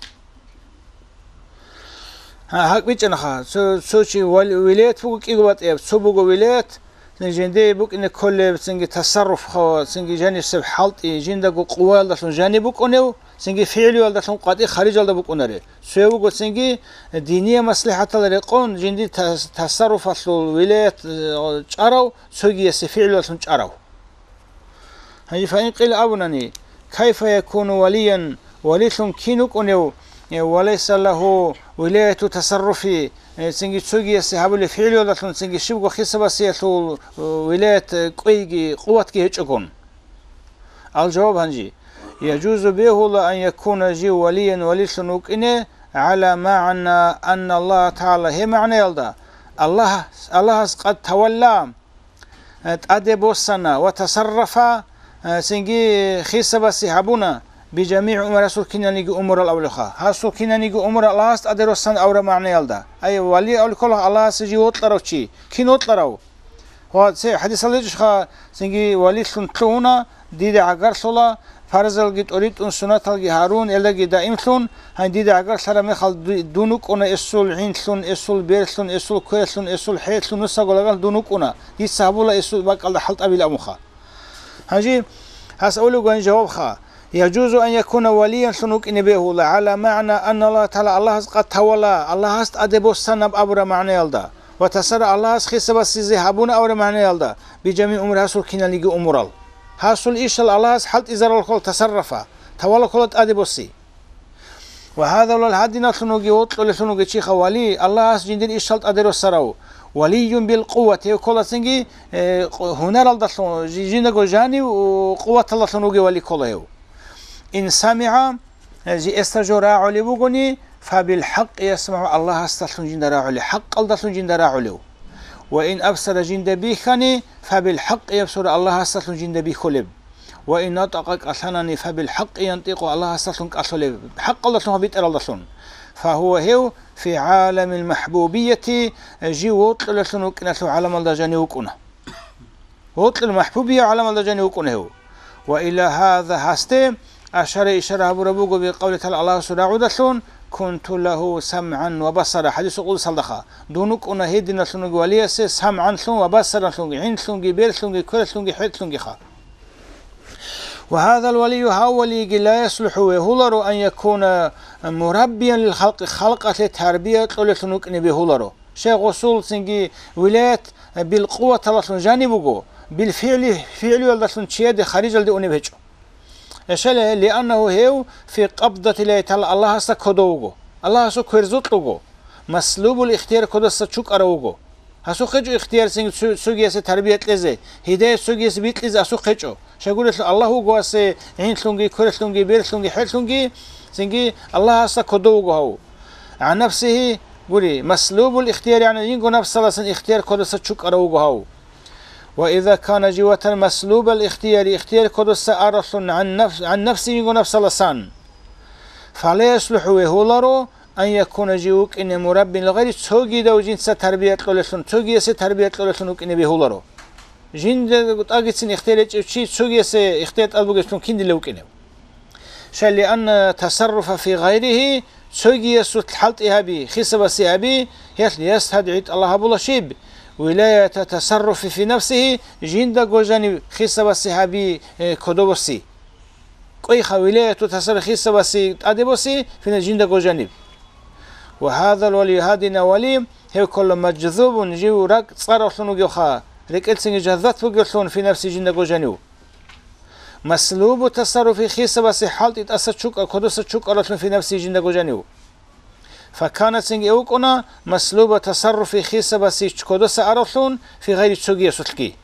Гьа, гьакӀ бичӀчӀанаха. Цо, цо чи вал-, вилаят буго кӀиго батӀияб, цо буго вилаят, цин жиндие букӀине кколеб, цинги тасарруф хъо, цинги жанисеб хӀалтӀи, жиндаго къуваялдалъун жаниб букӀунев, цинги фигӀлуялдалъун къватӀи харижалда букӀунаре. Цояв вуго цинги диние маслихӀатал рекъон, жинди тас-, тасарруфалъул вилаят, э, чӀарав, цогиясе фигӀлуялъун чӀарав. Гьанже фаин къила абунани, кайфа якуну валиян, валилъун кин вукӀунев, э, ва лайса лагьу вилаяту тасарруфи, э, цинги цогиясе гьабулеб фигӀлуялдалъун цинги щибго хисабасиялъул, э, вилаят, э, кӀвейги къуватги гьечӀогун? Ал-жаваб гьанжи. Яжузу бегьула ан якуна жив валиян валилъун вукӀине, гӀала магӀна анна Аллагьа тагӀала гьеб магӀнаялда, Аллагь, Аллагьас къад тавалла, э, тӀаде боссана ва тасаррафа, э, цинги хисабаси гьабуна, бижамигӀи умур, гьасул киналниги умурал авлуха. Гьасул киналниги умурал Аллагьас тӀаде россан авра магӀнаялда. Ай, вали авлукалах Аллагьасе жив вокьарав чи. Кин вокьарав? Ва цей хӀадисалда гьечӀищха, цинги валилъун лъугьуна, дида гӀагарлъула, фарзалги тӀоритӀун, суннаталги гьарун, элдаги даимлъун, гьанже дида гӀагарлъараб мехалда ду-, дун вукӀуна эсул гӀинлъун, эсул берлъун, эсул кверлъун, эсул хӀелъун, нусаго лагъал дун вукӀуна, дица гьабула эсул бакӀалда хӀалтӀабилан абунха. Гьанже гьас авлугоян жавабха, яжузу ан якуна валиянлъун вукӀине бегьула, гӀала магӀна анна Аллагьа тагӀала Аллагьас къад тавалла, Аллагьас тӀаде боссанаб абураб магӀнаялда. Ва тасара Аллагьас хисабасизе гьабуна авра магӀнаялда, бижамигӀи умур, гьасул киналниги умурал. Гьасул ишал Аллагьас хӀалтӀизарал ккола тасаррафа, тавалла ккола тӀаде босси. Ва гьадавлал гьадиналлъун вуги вокьулеллъун вуги чиха вали, Аллагьас жиндир ишал тӀаде росарав, валиюн бил къуват, гьев кколасинги, э, къу-, гьунаралдалъун, жи-, жиндаго жанив, у, къуваталдалъун вуги вали ккола гьев. Ин самигӀа, Э, жи эсда жо рагӀулев вугони, фабил хӀакъи ясмагӀу, Аллагьасдалъун жинда рагӀулев, хӀакъалдалъун жинда рагӀулев. Ва ин абсара, жинда бихьани, фабил хӀакъи ябсуру, Аллагьасдалъун жинда бихьулеб. Ва ин натӀакъа, кӀалъанани, фабил хӀакъи янтӀикъу, Аллагьасдалъун кӀалъулеб, хӀакъалдалъун ва битӀаралдалъун. Фагьува, гьев, фи гӀаламил махӀбубияти, э, жив вокьулеллъун вукӀиналъул гӀаламалда жанив вукӀуна. Вокьул махӀбубияв гӀаламалда жанив вукӀун гьев. Ва иля гьаза, гьасде, ашара, ишара гьабураб буго, бикъавли тагӀала, Аллагьасул рагӀудалъун, кунту лагьу самгӀан ва басара, хӀадисул къудсалдаха, дун вукӀуна гьединалъун вугев валиясе самгӀанлъун ва басаранлъунги, гӀинлъунги, берлъунги, кверлъунги, хӀетӀлъунгиха. Ва гьазал валию, гьав валиги, ла яслухӀу, бегьуларо, ан якуна мураббиян лил халкъи, халкъалъе тарбия кьолеллъун вукӀине бегьуларо. Шайх гъусул цинги вилаят, э, бил къуваталалъун жаниб буго, бил фигӀли, фигӀлуялдалъун чияде харижалде унеб гьечӀо. Эшеле, лианнагьу, гьев фи къабдатиллагьи тагӀала, Аллагьасда кодов вуго, Аллагьасул кверзукь вуго, маслубул ихтияр, кодаса чукӀарав вуго. Гьасухъ гьечӀо ихтияр цинги цо-, цогиясе тарбия кьезе, гьидаят цогиясе бикьизе асухъ гьечӀо. Щайгурелъул Аллагь вуго асе гӀинлъунги, кверлъунги, берлъунги, хӀетӀлъунги, цинги Аллагьасда кодов вуго гьав. ГӀан нафсигьи, гури, маслубул ихтияр, яни жинго нафсаласан ихтияр кодаса чукӀарав вуго гьав. Ва иза кана, жив ватани, маслубал ихтияри, ихтияр кодаса аралъун гӀан нафс-, гӀан нафси, жинго нафсаласан, фала яслухӀу, бегьуларо, ан якуна, жив вукӀине, мураббин лигъайри, цогидав жинца тарбия кьолеллъун, цогиясе тарбия кьолеллъун вукӀине бегьуларо. Жинда тӀагицин ихтияр гьечӀев чи цогиясе ихтияр тӀад бугеблъун киндила вукӀинев? Шай, лианна тасарруфа фи гъайригьи, цогиясулъ хӀалтӀи гьаби, хисабаси гьаби, гьелъ ястадгӀи, тӀалаб гьабула щиб? Вилаята тасарруфи фи нафсигьи, жиндаго жанив хисабаси гьаби, э, кодобоси. КӀвейха вилаяту тасарруф хисабаси тӀаде боси, фина жиндаго жаниб. Ва гьазал валию, гьадина вали, гьев ккола мажзубун, жив ракӀ цӀаравлъун вугевха, рекӀелцинги жаззат бугевлъун, фи нафси, жиндаго жанив. Маслубу тасарруфи хисабасе хӀалтӀи тӀаса чукӀа, кодоса чукӀаралъун фи нафси жиндаго жанив. Факана цинги эвкӀуна маслуба тасарруфи хисабасе кодоса аралъун фи гъайри цогиясулъги.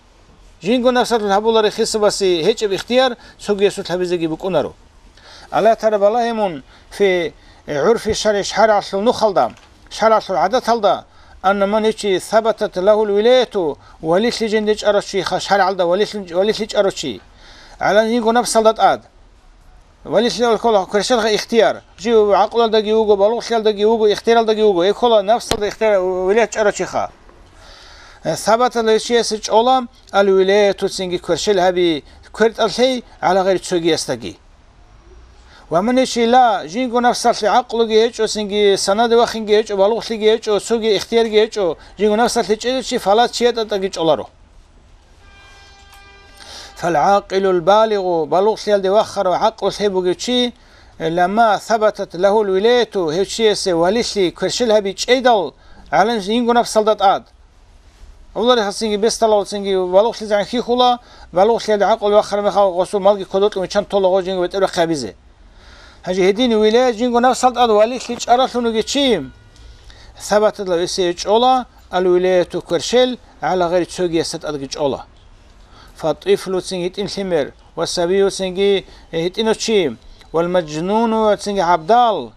Жинго нафсалъул гьабулари хисабасе гьечӀеб ихтияр цогиясулъ гьабизеги букӀунаро. Аллагь Тагьала балагье мун фи гӀурфи шаргӀи шаргӀалъул нухалда, шаргӀалъул гӀадаталда, анна ман гьечи сабатат лагьул вилаяту, валилъи жинде чӀарав чи ха-, шаргӀалда валилъи, валилъи чӀарав чи. ГӀалан жинго нафсалда тӀад. Валилъи ккола кверщелха ихтияр. Жив гӀакълалдаги вуго, балугълъиялдаги вуго, ихтияралдаги вуго. Гьеб ккола нафсалда ихтияр вилаят чӀарав чи ха. Сабаталда гьев чиясе чӀола ал вилаяту цинги кверщел гьаби, квертӀалъей гӀала гъайри цогиясдаги. Ва ман гьечи ла, жинго нафсалъе гӀакълуги гьечӀо, цинги санаде вахинги гьечӀо, балугълъиги гьечӀо, цоги ихтиярги гьечӀо, жинго нафсалъе чӀезе чи фала чиясдаги чӀоларо. ФалгӀакъилул балигъу, балугълъиялде вахарав гӀакълу лъай бугев чи, ламма сабатат лагьул вилаяту, гьев чиясе валилъи кверщел гьаби чӀейдал, гӀалан жинго нафсалда тӀад. Гьулари хасинги бесдалав цинги балугълъизегӀан хьихьула, балугълъиялде гӀакълу вахараб мехалъ гъосул малги кодокьун виччан тола гъо жинго бетӀер бахъи гьабизе. Гьанже гьедин вилаят жинго нафсал тӀад валилъи чӀаралъун вугев чи, сабаталда гьесие чӀола ал вилаяту кверщел, гӀала гъайри цогиясда тӀадги чӀола. Фатифлу цинги гьитӀин лъимер, ва сабию цинги гьитӀинав чи, вал мажнуну цинги гӀабдал,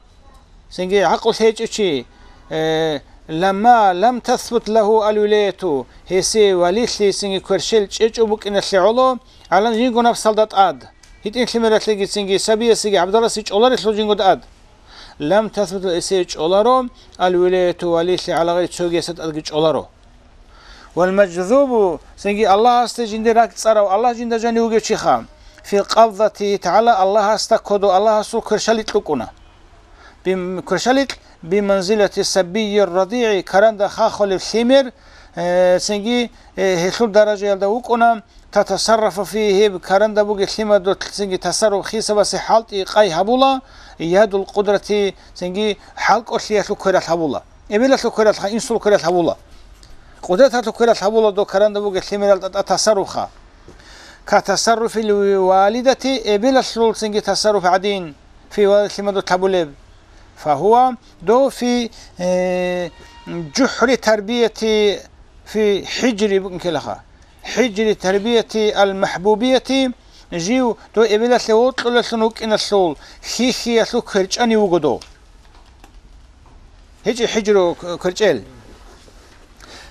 цинги гӀакълу лъечӀев чи, э, ламма лам тасбут лагьу ал вилаяту, гьесие валилъи цинги кверщел чӀечӀо букӀиналъе гӀоло, гӀалан жинго нафсалда тӀад. ГьитӀин лъимералъеги цинги сабиясеги гӀабдаласе чӀоларелъул жинго тӀад. Лам тасбут, гьесие чӀоларо, ал вилаяту валилъи гӀала гъайри цогиясда тӀадги чӀоларо. Вал мажзубу, цинги Аллагьасде жинде ракӀ цӀарав, Аллагь жинда жанив вугев чи ха, фи къабзатигьи тагӀала, Аллагьасда кодо, Аллагьасул кверщаликь рукӀуна. Бим-, кверщаликь биманзилати сабийир радигӀи, каранда хахулев лъимер, э, цинги, э, гьелъул даражаялда вукӀуна, татасаррафу фигьи, гьеб каранда бугеб лъимадулъ цинги тасарруф хисабасе хӀалтӀи къай гьабула, ядул къудрати, цинги хӀалкӀолъиялъул квералъ гьабула. Эбелалъул квералъха, инсул квералъ гьабула. Къудраталъул квералъ гьабула дов каранда бугеб лъимерал тӀатӀа тасарруфха. Ка тасарруфил валидати, эбелалъул цинги тасарруф гӀадин, фи валид лъимадулъ гьабулеб. Фагьуа дов фи, э, жухӀри тарбияти фи хӀижри букӀин ккелаха. ХӀижри тарбияти ал-махӀбубияти, жив дов эбелалъе вокьулелъун вукӀиналъул хьихьиялъул кверчӀани вуго дов. ГьечӀи хӀижру к-, кверчӀел.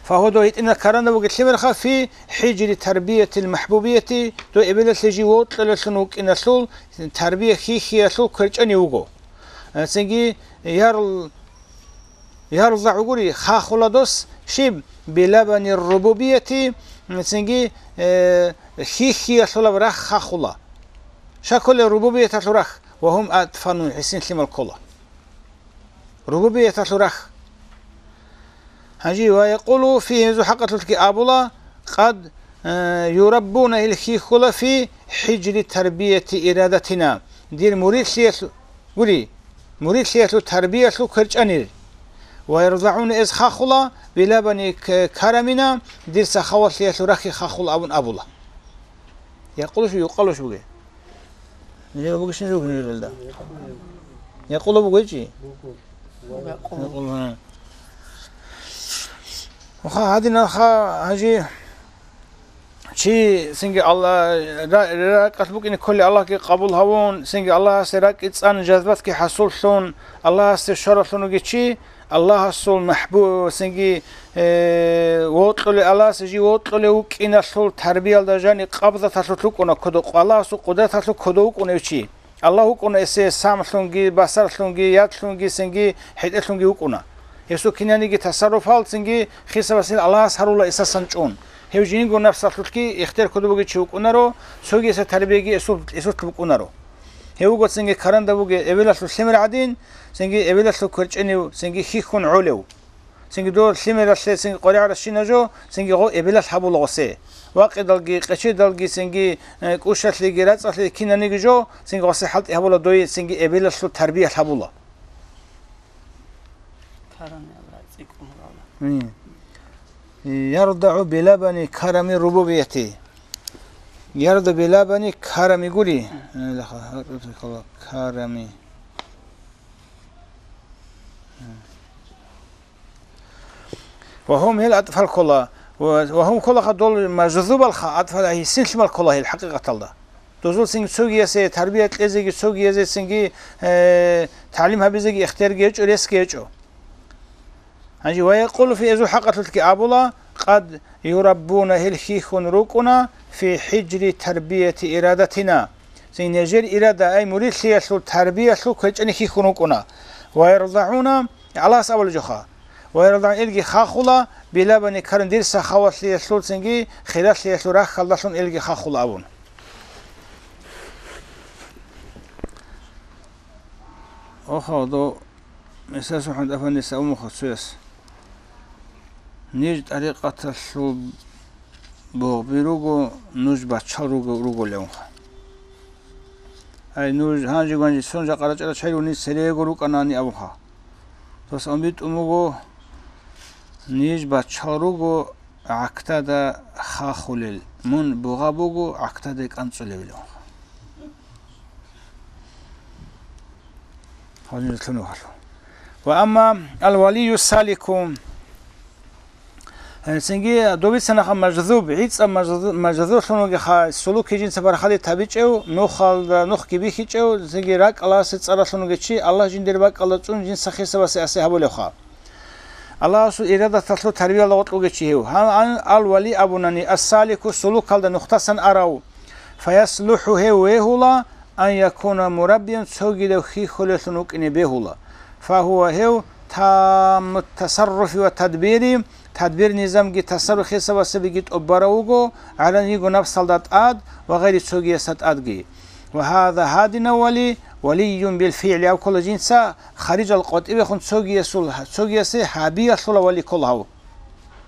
Фагьуа дов гьитӀинаб каранда бугеб лъимерха фи хӀижри тарбиятил махӀбубияти, дов эбелалъе жив вокьулелъун вукӀиналъул тарбия хьихьиялъул кверчӀани вуго. Э, цинги ярл-, ярзагӀу гури, хахула дос щиб? Билабани рубубияти, цинги, э, хьихьиялъулаб рахь хахула. Щай кколел рубубияталъул рахь? Ва гьум атфану, гӀисин лъимал ккола. Рубубияталъул рахь. Гьанже ва якъулу фи, гьезул хӀакъалъулъги абула, къад, э, юраббуна, ил хьихьула фи хӀижри тарбияти ирадатина, дир муридлъиялъу-, гури, муридлъиялъул тарбиялъул кверчӀанир. Ва ярзагӀуна, эз хахула, билабани к-, карамина, дир сахаватлъиялъул рахьги хахула абун абула. Якъулуш, юкъалуш бугеб? Нижер бугищин жо гьуниралда. Якъула бугойчи? Якъула. Уха, гьадинаха, гьанже чи цинги Алла-, ра-, ракӀалъ букӀине кколи Аллагьги къабул гьавун, цинги Аллагьасе ракӀи цӀан, жазбатги хӀасуллъун, Аллагьасе щваралъун вугев чи, Аллагьасул махӀбу-, цинги, э, вокьулев, Аллагьас жив вокьулев вукӀиналъул тарбиялда жани къабзаталъулъ вукӀуна кодо, Аллагьасул къудраталъулъ кодо вукӀунев чи. Аллагь вукӀуна эсе самлъунги, басарлъунги, ядлъунги, цинги хӀетӀелъунги вукӀуна. Гьесул кинаниги тасарруфал цинги хисабасил Аллагьас гьарула эсасан чӀун. Гьев жинго напсалъулъги ихтияр кодо бугев чи вукӀунаро, цогиса тарбияги эсул, эсулъ букӀунаро. Гьев вуго цинги каранда бугев эбелалъул лъимер гӀадин, цинги эбелалъул кверчӀенив, цинги хьихьун гӀолев. Цинги дов лъимералъе цинги къваригӀаращина жо, цинги гъо эбелалъ гьабула гъосе. Вакъидалги, къечедалги, цинги, э, кӀушалъеги, рацӀцӀалъеги кинаниги жо, цинги гъосе хӀалтӀи гьабула дой, цинги эбелалъул тарбиялъ гьабула. Карани Аллагь цӀикӀкӀун гьавала. М. ЯрдагӀу билабани карами рубубияти. Ярда белабани карами гури. Э, лаха, карами. Ва гьум гьел атӀфал ккола. Ва, ва гьум кколаха дол мажзубалха, атӀфал гьисин лъимал ккола гьел хӀакъикъаталда. Дозул цинги цогиясе тарбия кьезеги, цогиязе цинги, э, тагӀлим гьабизеги ихтиярги гьечӀо, ресги гьечӀо. Гьанже ва якъулу фи, эзул хӀакъалъулъги абула, къад юраббуна, гьел хьихьун рукӀуна, фи хӀижри тарбияти ирадатина. Цин нижер ирада, ай муридлъиялъул тарбиялъул квечӀани хьихьун рукӀуна. Ва ярдагӀуна, Аллагьас абулеб жоха. Ва ярдагӀуна, илги хахула, билабани карун дир сахаватлъиялъул цинги хиралъиялъул рахьалдалъун илги хахула абун. Оха, до Гьесасухъан тӀафаниса умухъа цояс: «Ниж тӀарикъаталъул бугъби руго, нуж баччал руго, руголевха. Ай, нуж гьанжи-гванжи сон жакъа рачӀарал чагӀи ругони, церего рукӀанани», абуха. Дос амбитӀун буго: «Ниж баччал руго гӀактада хахулел, мун бугъа буго гӀактада кӀанцӀулевилевха». Гьанже лъун вахъалъу. Ва амма ал-валию салику. Гьанцинги добицанаха мажзуб, гӀицӀаб мажзу-, мажзублъун вугеха, сулуки жинца бархаде табичӀев, нухалда нухги бихьичӀев, цинги ракӀаласе цӀаралъун вугев чи, Аллагь жиндир бакӀалда цӀун жинца хисабасе асе гьабулевха. Аллагьасул ирадаталъул тарбиялда гъоркь вугев чи гьев. Гьан ан ал-вали абунани, ас-салику сулукалда нухтасан арав. Фаяслуху гьев вегьула, ан якуна мураббиян цогидав хьихьулелъун вукӀине бегьула. Фагьува гьев тамму тасарруфи ва тадбири, тадбир-низамги тасарруф хисабасабиги тӀубарав вуго, гӀалан йиго напсалда тӀад ва гъайри цогиясда тӀадги. Ва гьаза гьадинав вали, валиюн билфигӀли аб ккола жинца, харижал къватӀибехун цогиясул, цогиясе гьабиялъула вали ккола гьав.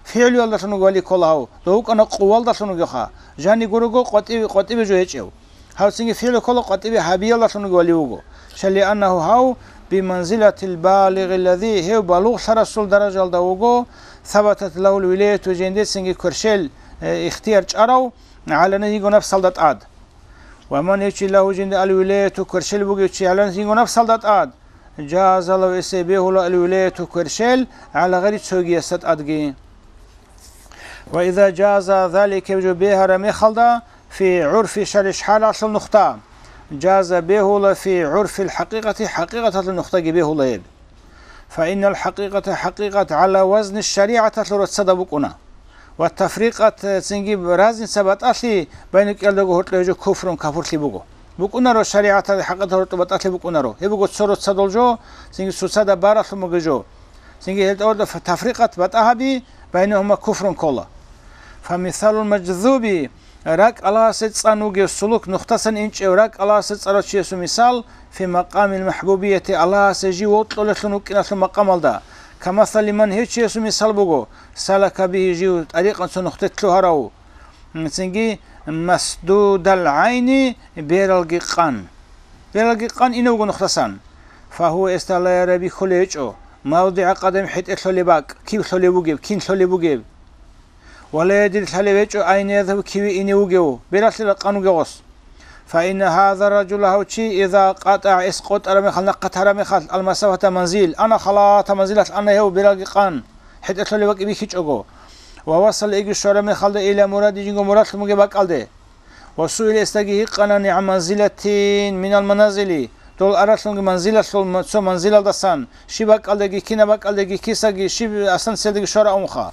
ФигӀлуялдалъун вуго вали ккола гьав, дов вукӀана къувалдалъун вугевха, жани гурого къватӀибе, къватӀибе жо гьечӀев. Гьав цинги фигӀлу ккола къватӀибе гьабиялдалъун вуго вали вуго. Шаллианнагьу гьав биманзилатил балигъиллади, гьев балугълъарасул даражалда вуго, сабатат лагьул вилаяту, жиндецинги кверщел, э, ихтияр чӀарав, гӀалана йиго напсалда тӀад. Ва ман гьечи лагьу жинда ал-вилаяту кверщел бугев чи гӀаланас йиго напсалда тӀад, жаза лагьу эсе бегьула ал-вилаяту кверщел гӀала гъайри цогиясда тӀадги. Ва иза жаза залика жо бегьараб мехалда фи гӀурфи шариш шаргӀалъул нухда, жаза бегьула фи гӀурфил хӀакъикъати хӀакъикъаталъул нухдаги бегьула гьеб. Фаиннал хӀакъикъата хӀакъикъат гӀала вазни шаригӀаталъул рацада букӀуна. Ва тафрикъат, цинги разница батӀалъи байна кӀиялдаго гьоркьо гьечӀо куфрун капурлъи буго. БукӀунаро шаригӀаталъ хӀакъикъаталъ рацӀцӀа батӀалъи букӀунаро. Гьеб буго цо рацадал жо, цинги цоцазда баралъун бугеб жо. Цинги гьелда гьоркьо ф-, тафрикъат батӀа гьаби, байнагьума куфрун ккола. Фамисалул мажзуби, ракӀ Аллагьасе цӀан вугев сулук нухтасан инчӀев ракӀ Аллагьасе цӀарав чиясул мисал, фи макъамил махӀбубияти Аллагьасе жив вокьулелъун вукӀиналъул макъамалда, камасали ман гьев чиясул мисал буго, салака бигьи жив тӀарикъан цо нухде лъугьарав, цинги масдудал гӀайни бералги къан. Бералги къан инев вуго нухтасан. Фагьува эсда ла яра бихьулев гьечӀо, мавдигӀа къадам хӀетӀе лъолеб бакӀ, кив лъолев вугеб, кин лъолев вугеб. Ва ла ядри лъалев гьечӀо айна язгьабу киве инев вугев, бералъе ракъан вугев гъос. Фаинна гьаза ражула гьав чи иза къатӀа эс къотӀараб мехалъ, нахъа тараб мехалъ, алмасафата манзил, ана халата манзилалъ ана гьев бералги къан, хӀетӀе лъолеб бакӀ бихьичӀого. Ва васал иги щвараб мехалда ила муради жинго мурадлъун бугеб бакӀалде. Ва суила эсдаги гьикъана нигӀан манзилатин минал маназили, дол аралъунги манзилалъул ма-, цо манзилалдасан, щиб бакӀалдаги, кинаб бакӀалдаги, кисаги, щиб астанциялдаги щвара унха.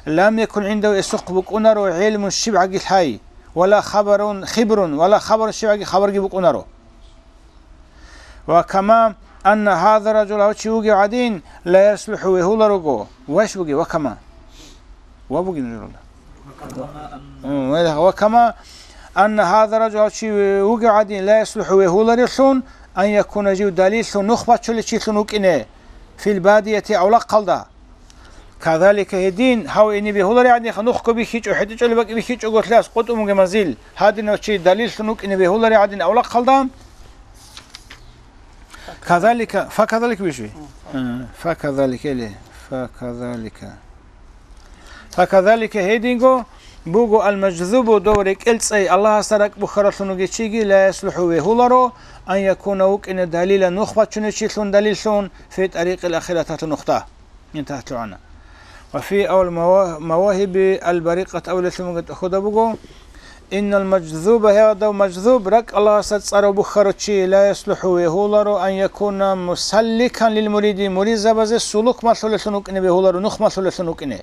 Лам якун гӀиндагьу эсухъ букӀунаро гӀелмун щибгӀаги лъай, вала хабарун хибрун, вала хабарун щибгӀаги хабарги букӀунаро. Ва кама анна гьаза ражул гьав чи вугев гӀадин, ла яслухӀу вегьуларого, ваш бугев, ва кама. Ва бугин журалда. М, ва, ва кама анна гьаза ражул гьав чи вугев гӀадин, ла яслухӀу вегьуларевлъун, ан якуна жив далиллъун нух бачулев чилъун вукӀине, фил бадияти авлахъалда. Кадалика гьедин, гьав ине бегьулари гӀадин, нухго бихьичӀо, хӀетӀичӀоли бакӀ бихьичӀого лъас къотӀун бугеб манзил, гьадинав чи далиллъун вукӀине бегьулари гӀадин авлахъалда. Кадалика, факадалика биши? Э, факадалика или, факадалика. Факадалика гьединго, Буго, ал-мажзубу, дов рекӀел цӀей Аллагьасда ракӀ бухьаралъун вугев чиги, ла яслухӀу, вегьуларо, ан якуна, вукӀине, далила, нух бачунев чилъун, далиллъун, фи тӀарикъил ахираталъул нухда. Интагьлъугьана. Ва фи авал мава-, мавагьиби ал-барикъат авлалъун вугев тӀахьуда буго, иннал мажзуба, гьев дов мажзуб, ракӀ Аллагьасда цӀарав бухьарав чи, ла яслухӀу, вегьуларо, ан якуна мусалликан лил муриди, муридзабазе сулук малъулелъун вукӀине вегьуларо, нух малъулелъун вукӀине.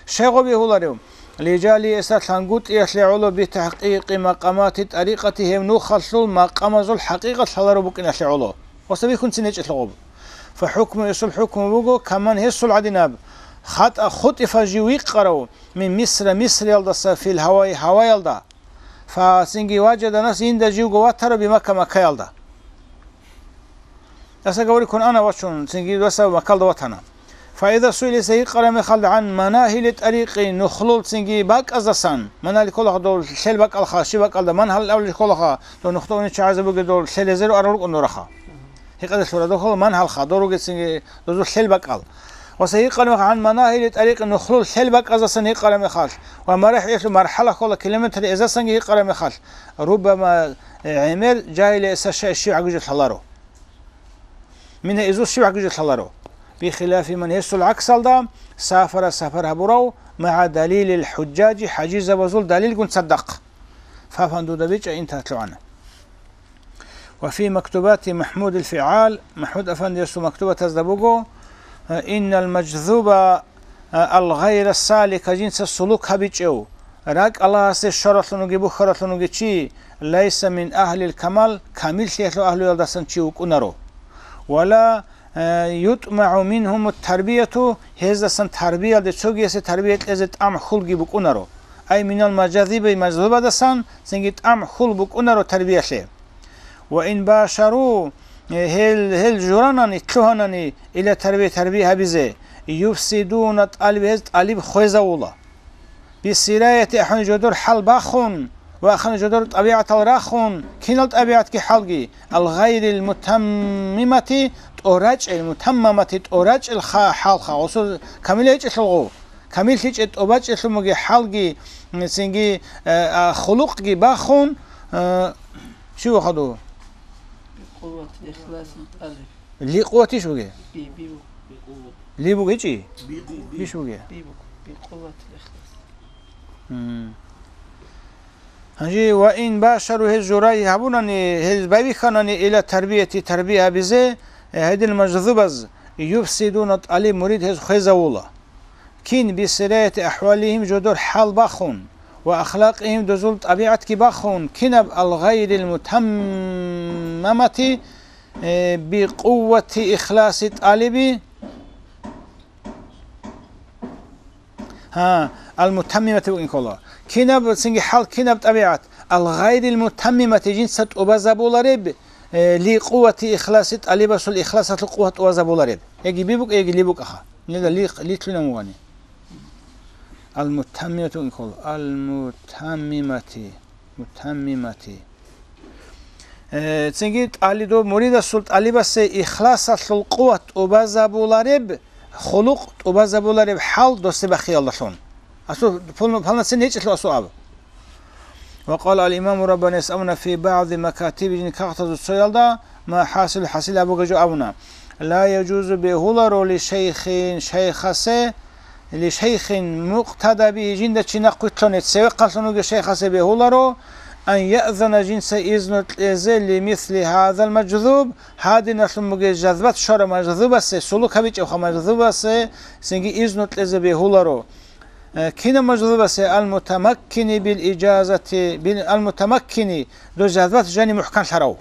Щай гъоб бегьуларев? Лижагьлигьи, гьесда лъангутӀиялъе гӀоло, битахӀкъикъи макъамати тӀарикъати, гьев нухалъул макъамазул хӀакъикъат лъалареб букӀиналъе гӀоло. Гъосда бихьунцин гьечӀелъул гъоб. Фахукму, гьесул хӀукму буго, каман, гьесул гӀадинаб, хатӀа хутӀифа жив вихъарав, мин Мисра, Мисриялдаса, фил гьаваи, гьаваялда. Фа цинги важаданас инда живго ватарав би Макка, Маккаялда. Даса гавриккун ана вачун, цинги даса Маккалда ватана. Фаида суилиса гьикъараб мехалда гӀан манагьили тӀарикъи, нухлул цинги бакӀаздасан, манагьили кколаха дол лъел бакӀалха, щиб бакӀалда, мангьал авлил кколаха, дол нухда уничагӀазе бугеб дол лъел гьезеру арал рукӀун дораха. Гьикъазе лъура дохъал мангьалха, доруге цинги дозул лъел бакӀал. Ва са гьикъараб мехалъ гӀан манагьили тӀарикъи, нухлул лъел бакӀаздасан гьикъараб мехалъ, ва марахӀилъу мархӀала ккола километр эздасанги гьикъараб мехалъ, руббама, э, гӀемер жагьилиса щай щиб гӀагужелъ лъаларо. Мина изус щиб гӀагужелъ лъаларо. Бихилафи ман, гьесул гӀаксалда, сафара, сапар гьабурав, магӀа далилил хӀужжажи, хӀажизабазул далилгун цадахъ. Фафан дуда бичӀа интагьлъугьана. Ва фи мактубати Махмудил ФигӀал, Махмуд афандиясул мактубатазда буго, э, иннал мажзуба, э, ал гъайра салика, жинца сулук гьабичӀев, ракӀ Аллагьасде щваралъун вугев, бухьаралъун вугев чи, лайса мин агьлил камал, камиллъиялъул агьлуялдасан чи вукӀунаро. Ва ла, э, ютӀмагӀу мингьумут тарбияту, гьездасан тарбиялде, цогиясе тарбия кьезе тӀамхӀулги букӀунаро. Ай минал мажазиби, мажзубадасан цинги тӀамхӀул букӀунаро тарбиялъе. Ва ин башару, э, гьел, гьел журанани, лъугьанани, ила тарбия, тарбия гьабизе, юфсидуна тӀалиб, гьез тӀалиб хвезавула. Бисираяти, ахӀун жодор хӀал бахун ва ахӀун жодор тӀабигӀатал рахун, кинал тӀабигӀатги хӀалги, ал гъайрил мутаммимати, тӀорачӀел, мутаммамати, тӀорачӀел ха-, хӀалха, гъосул камил гьечӀелъулгъу, камиллъичӀел тӀобачӀелъун бугеб хӀалги, цинги, э, а, хулукъги бахун, э, чи вахаду? Бикъуввати ихласин тӀалаб. Ликъувватищ бугеб? Би, би буго. Ли бугечӀи? Биш бугеб? Би буго. Бикъуввати ихлас. М. Гьанже ва ин башару, гьез журай гьабунани, гьез байбихьанани ила тарбияти, тарбия гьабизе, э, гьедин мажзубаз, юфсидуна тӀалиб, мурид гьез хвезавула. Кин бисираяти ахӀвалихим, жодор хӀал бахун, ва ахлакъихим, дозул тӀабигӀатги бахун, кинаб ал гъайрил мутаммамати, э, бикъуввати ихласи тӀалиби, гьа, ал-мутаммимати букӀин ккола. Кинаб, цинги хӀал, кинаб тӀабигӀат? Ал-гъайрил-мутаммимати, жинца тӀубазабулареб, э, ли къуввати ихласи, тӀалибасул ихласалъул къуват тӀубазабулареб. Яги би букӀа, яги ли букӀаха. Нила ли, лилъунан вугани. Ал-мутаммимати букӀин ккола. Ал-мутаммимати. Мутаммимати. Э, цинги тӀалидо муридасул тӀалибасе ихласалъул къуват тӀубазабулареб, хулукъ тӀубазабулареб хӀал досде бахъиялдалъун. Асу-, пол-, полноценный гьечӀелъул асу аб. Ва къала ал-имаму Раббани ясамуна фи баъди макатиби, жин кагътазул цоялда, ма хӀасил, хӀасил абуга жо абуна. Ла яжузу, бегьуларо, ли шайхин, шайхасе, ли шайхин мукътада бигьи, жинда чи нахъвилълъуне, цевехъанлъун вугев шайхасе бегьуларо, ан яъзана, жинца изну кьезе, ли мисли гьазал мажзуб, гьадиналъун бугеб жазбат щварав мажзубасе, сулук гьабичӀевха мажзубасе, цинги изну кьезе бегьуларо. Э, кинаб мажзубасе? Ал-мутамаккини бил ижазати, бил, ал-мутамаккини, дос жазбат жани мухӀканлъарав.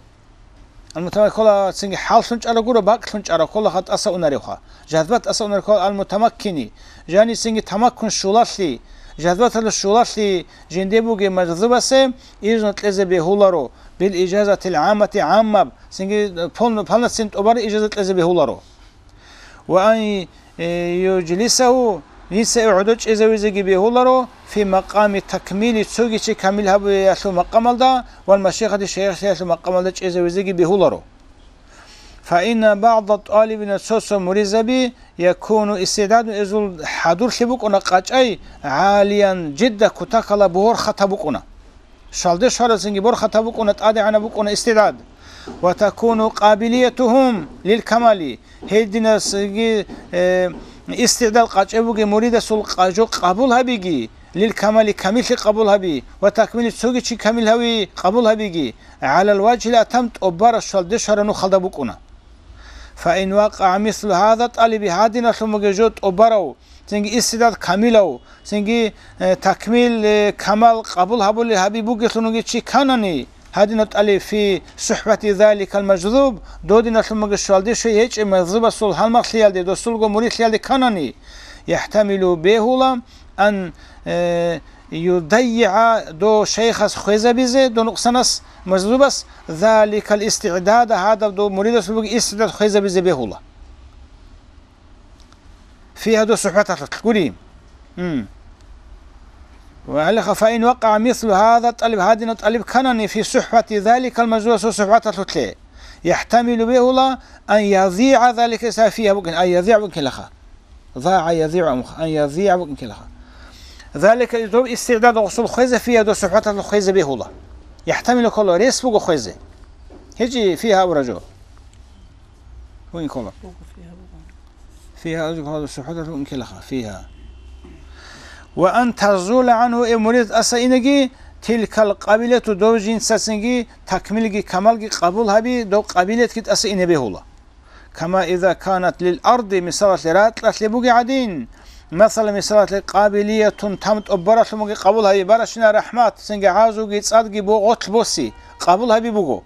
Ал-мутамаккин ккола цинги хӀаллъун чӀарав гуро, бакӀлъун чӀарав ккола, ха тӀаса унаревха. Жазбат тӀаса унарев ккола ал-мутамаккини. Жанисинги тамаккун щулалъи, жазбаталда щулалъи жинде бугеб мажзубасе изну кьезе бегьуларо, бил ижазатил гӀаммати, гӀаммаб, цинги полно-, полноценный тӀубараб ижаза кьезе бегьуларо. Ва ан, э, южлисагьу, гьесие гӀодо чӀезавизеги бегьуларо, фи макъами такмили, цоги чи камил гьабиялъул макъамалда, вал машихати, шайихлъиялъул макъамалда чӀезавизеги бегьуларо. فإن بعض الطالبين цо-цо муридзаби يكون استعداد эзул хӀадурлъи букӀуна къачӀай عاليا جدا кутакала борхатаб букӀуна. Щвалде щварацинги борхатаб букӀуна, тӀадегӀанаб букӀуна истигӀдад. وتكون قابليتهم للكمال. Гьединасги, э, истигӀдад къачӀеб бугеб муридасул къа-, жо къабул гьабиги, للكمال, камиллъи къабул гьаби, وتكميل, цоги чи камил гьави къабул гьабиги, على الوجه الأتم, тӀубараб щвалде щвараб нухалда букӀуна. فإن وقع مثل هذا الطالب, гьадиналъун бугеб жо тӀубарав, цинги истигӀдад камилав, цинги, э, такмил, э, камал къабул гьабулел гьаби бугелъун вугев чи кканани, гьадинав тӀалиб في صحبة ذلك المجذوب, додиналъун бугеб щвалде щвей гьечӀеб мажзубасул гьалмагълъиялде, досулго муридлъиялде кканани, يحتمل, бегьула, أن, э, يضيع, дов шайхас хвезабизе, дов нукъсанас, мажзубас, ذلك الاستعداد, гьадаб дов муридасул бугеб истигӀдад хвезабизе бегьула. فيها, дов сухӀбаталъулъ гури. М. وعليها فإن وقع مثل هذا الطالب, гьадинав тӀалиб кканани في صحبة ذلك المجذوب, дов сухӀбаталъулъе, يحتمل, бегьула, أن يضيع ذلك, فيها букӀин, أن يضيع букӀинлаха. ضاع يضيع, أن يضيع букӀинлаха. ذلك, дов истигӀдад гъосул хвезе, فيها, дов сухӀбаталъулъ хвезе бегьула. يحتمل ккола, рес буго хвезе. Гьечи فيها абураб жо. БукӀин ккола. Буго فيها буго. فيها, дов сухӀбаталъулъ букӀинлаха, فيها. وأن تزول عنه, э, мурид тӀаса инеги, تلك القابلية, дов жинцацинги такмилги камалги къабул гьаби, дов къабилиятги тӀаса ине бегьула. كما إذا كانت للأرض, мисалалъе, ракьалъе бугеб гӀадин, масала, мисалалъе, قابلية, там тӀубаралъун бугеб къабул гьаби, баращина рахӀмат, цинги гӀазуги цӀадги бо-, гъотлъ боси, къабул гьаби буго.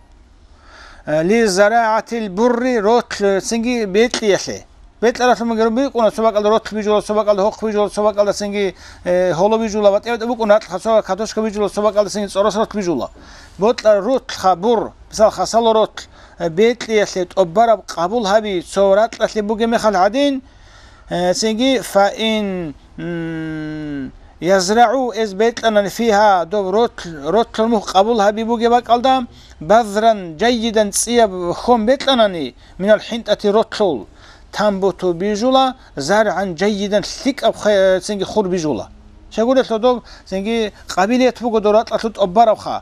Э, لزراعة البر, ротлъ, цинги бекьиялъе. Бекьаралъун бугеб букӀуна, цо бакӀалда ротлъ бижула, цо бакӀалда гьохъ бижула, цо бакӀалда цинги, э, гьоло бижула, батӀи-батӀи букӀуна ракьалъ, цо картошка бижула, цо бакӀалда цинги цӀорос ротлъ бижула. Бокьа ротлъха бур, мисал, хасало ротлъ, э, бекьиялъе тӀубараб къабул гьаби цо ракьалъе бугеб мехалъ гӀадин, э, цинги, فإن, м, يزرع, эз бекьанани, فيها, доб ротлъ-, ротлъул мухь къабул гьаби бугеб бакӀалда, بذرا جيدا, цӀияб хьон бекьанани, من الحنطة, ротлъул, تنبت, бижула, زرعا جيدا, лъикӀаб хъе-, цинги хур бижула. Щайгурелъул доб цинги къабилият буго доб ракьалъул тӀубарабха.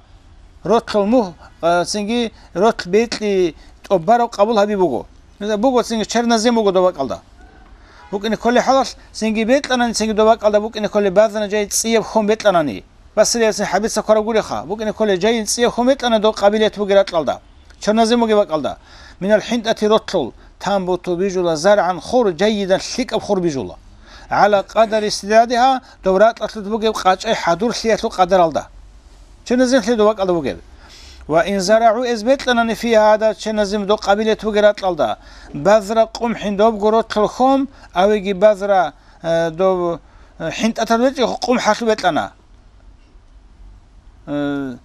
Ротлъул мухь, а, цинги ротлъ бекьи тӀубараб къабул гьаби буго. Буго цинги чернозем буго доб бакӀалда. БукӀине кколеб хӀалалъ цинги бекьанани, цинги доб бакӀалда букӀине кколеб بذرا جيدا, цӀияб хьон бекьанани. Басриялъе хӀабица ккараб гуриха, букӀине кколеб جيدا, цӀияб хьон бекьанани доб къабилият бугеб ракьалда. Чернозем бугеб бакӀалда. من الحنطة, ротлъул, تنبت, бижула, زرعا, хур, جيدا, лъикӀаб хур бижула. على قدر استعدادها, доб ракьалъулъ бугеб къачӀай хӀадурлъиялъул къадаралда. Черноземлъи доб бакӀалда бугеб. وإن زرعوا, эз бекьанани, فيها, гьадаб чернозем доб къабилият бугеб ракьалда, بذر قمح, добго ротлъул хьон, أو يجي بذر, э, доб, э, хӀинтӀатал бекьи къумхӀалъул бекьана. Э,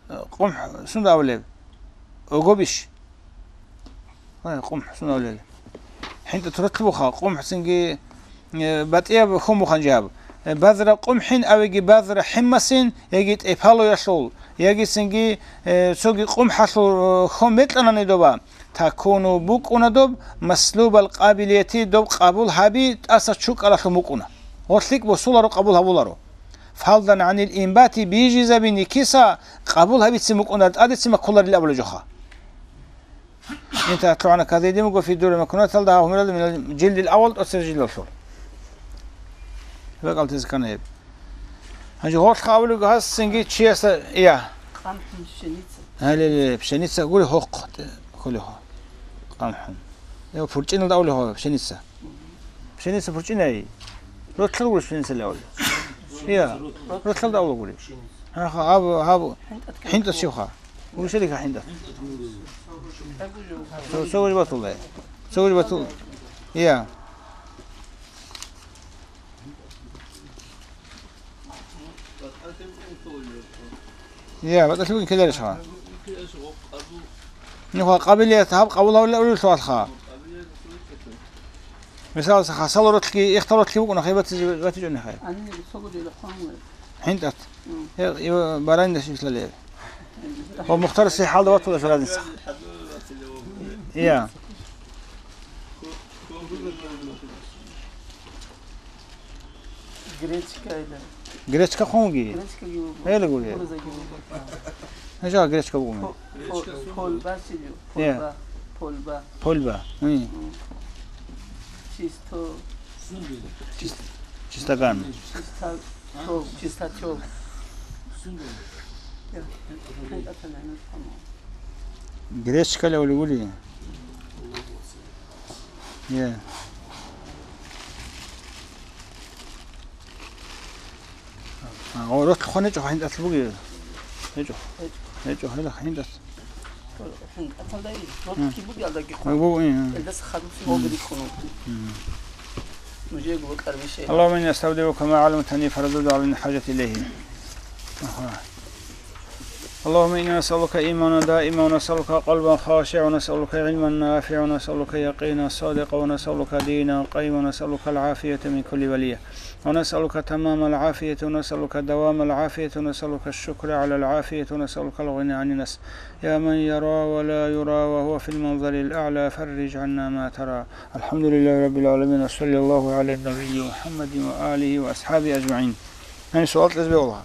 къумхӀ сунда абулеб? Огобиш. Ай, къумхӀ сунавлел. ХӀинтӀа турат буха, къумхӀ цинги, э, батӀияб хьун бухан жаб. Э, بذر قمح أو يجي بذر حمص, яги тӀепалоялъул, яги цинги, э, цоги къумхӀалъул, э, хьун бекьанани доба, تكون, букӀуна доб, مسلوب القابلية, доб къабул гьаби тӀаса чукӀалалъун букӀуна. Гъорлъ лъикӀ босуларо, къабул гьабуларо. فرضا عن الإنبات, бижизабине киса къабул гьабицин букӀуна, тӀадецин баккуларил абулеб жоха. انتهت لعنة كذا ديمغو في الدور المكنونة, гьав гьумералда من الجلد الأول, тӀоцебе жилдалъул. БакӀалтезе ккана гьеб. Гьанже гъорлъ абулеб гьас цинги чиясда, я. قمح, пшеница. Гьале, пшеница гури гьохъ, те, кколев гьо. قمح. Я, пурчӀиналда абулев гьо, пшеница. Пшеница пурчӀинай. Ротлъал гури пшеница левал. Я, ротлъалда абула гури. Гьаха, гьаб, гьаб, хӀинтӀат щивха. Гури шерика хӀинтӀат. Цо, цо гури батулай. Цо гури батул. Я. Я, батӀалъи бугин ккеларищха? Нуха къабилият гьаб къабул гьавлила улелъулха. Мисал, хасал ротлъги, ихтал ротлъги букӀуна, хай батизе, батичӀони хай. ХӀинтӀат. Э, ива баранидаш ислалер. Ва мухтар сихӀалда ватула шарадинца. Я. Гречка эда. Гречка хъунги? Гречка гиуго. Эла гури. Кукуруза гиуго. Нажа гречка бугуми. По-, по-, полба силио. Е. Полба. Полба. Полба. Уи. М. Чисто. Чис-, чистоган. Чиста-, тёл, чистотёл. Я. Гречка левли гури. Е. А, о, рот хъван гьечӀо, хӀинтӀалъ бугеб. ГьечӀо. ГьечӀо, гьела хӀинтӀалъ. ХӀинтӀалъ бугелдаги хъван. Буго, э. Элдас хадуб сиболги рикӀкӀуна. Нужего бокьарабищ. اللهم إني أستودعك ما علمتني فردده علي عند الحاجة إليه. Аха. اللهم إنا نسألك إيمانا دائما، ونسألك قلبا خاشعا، ونسألك علما نافعا، ونسألك يقينا صادقا، ونسألك دينا قيما، ونسألك العافية من كل بلية، ونسألك تمام العافية، ونسألك دوام العافية، ونسألك الشكر على العافية، ونسألك الغنى عن الناس. يا من يرى ولا يرى وهو في المنزل الأعلى، فرج عنا ما ترى. الحمد لله رب العالمين، وصلى الله على النبي محمد وآله وأصحابه أجمعين. Гьаниб суал кьезе бегьула.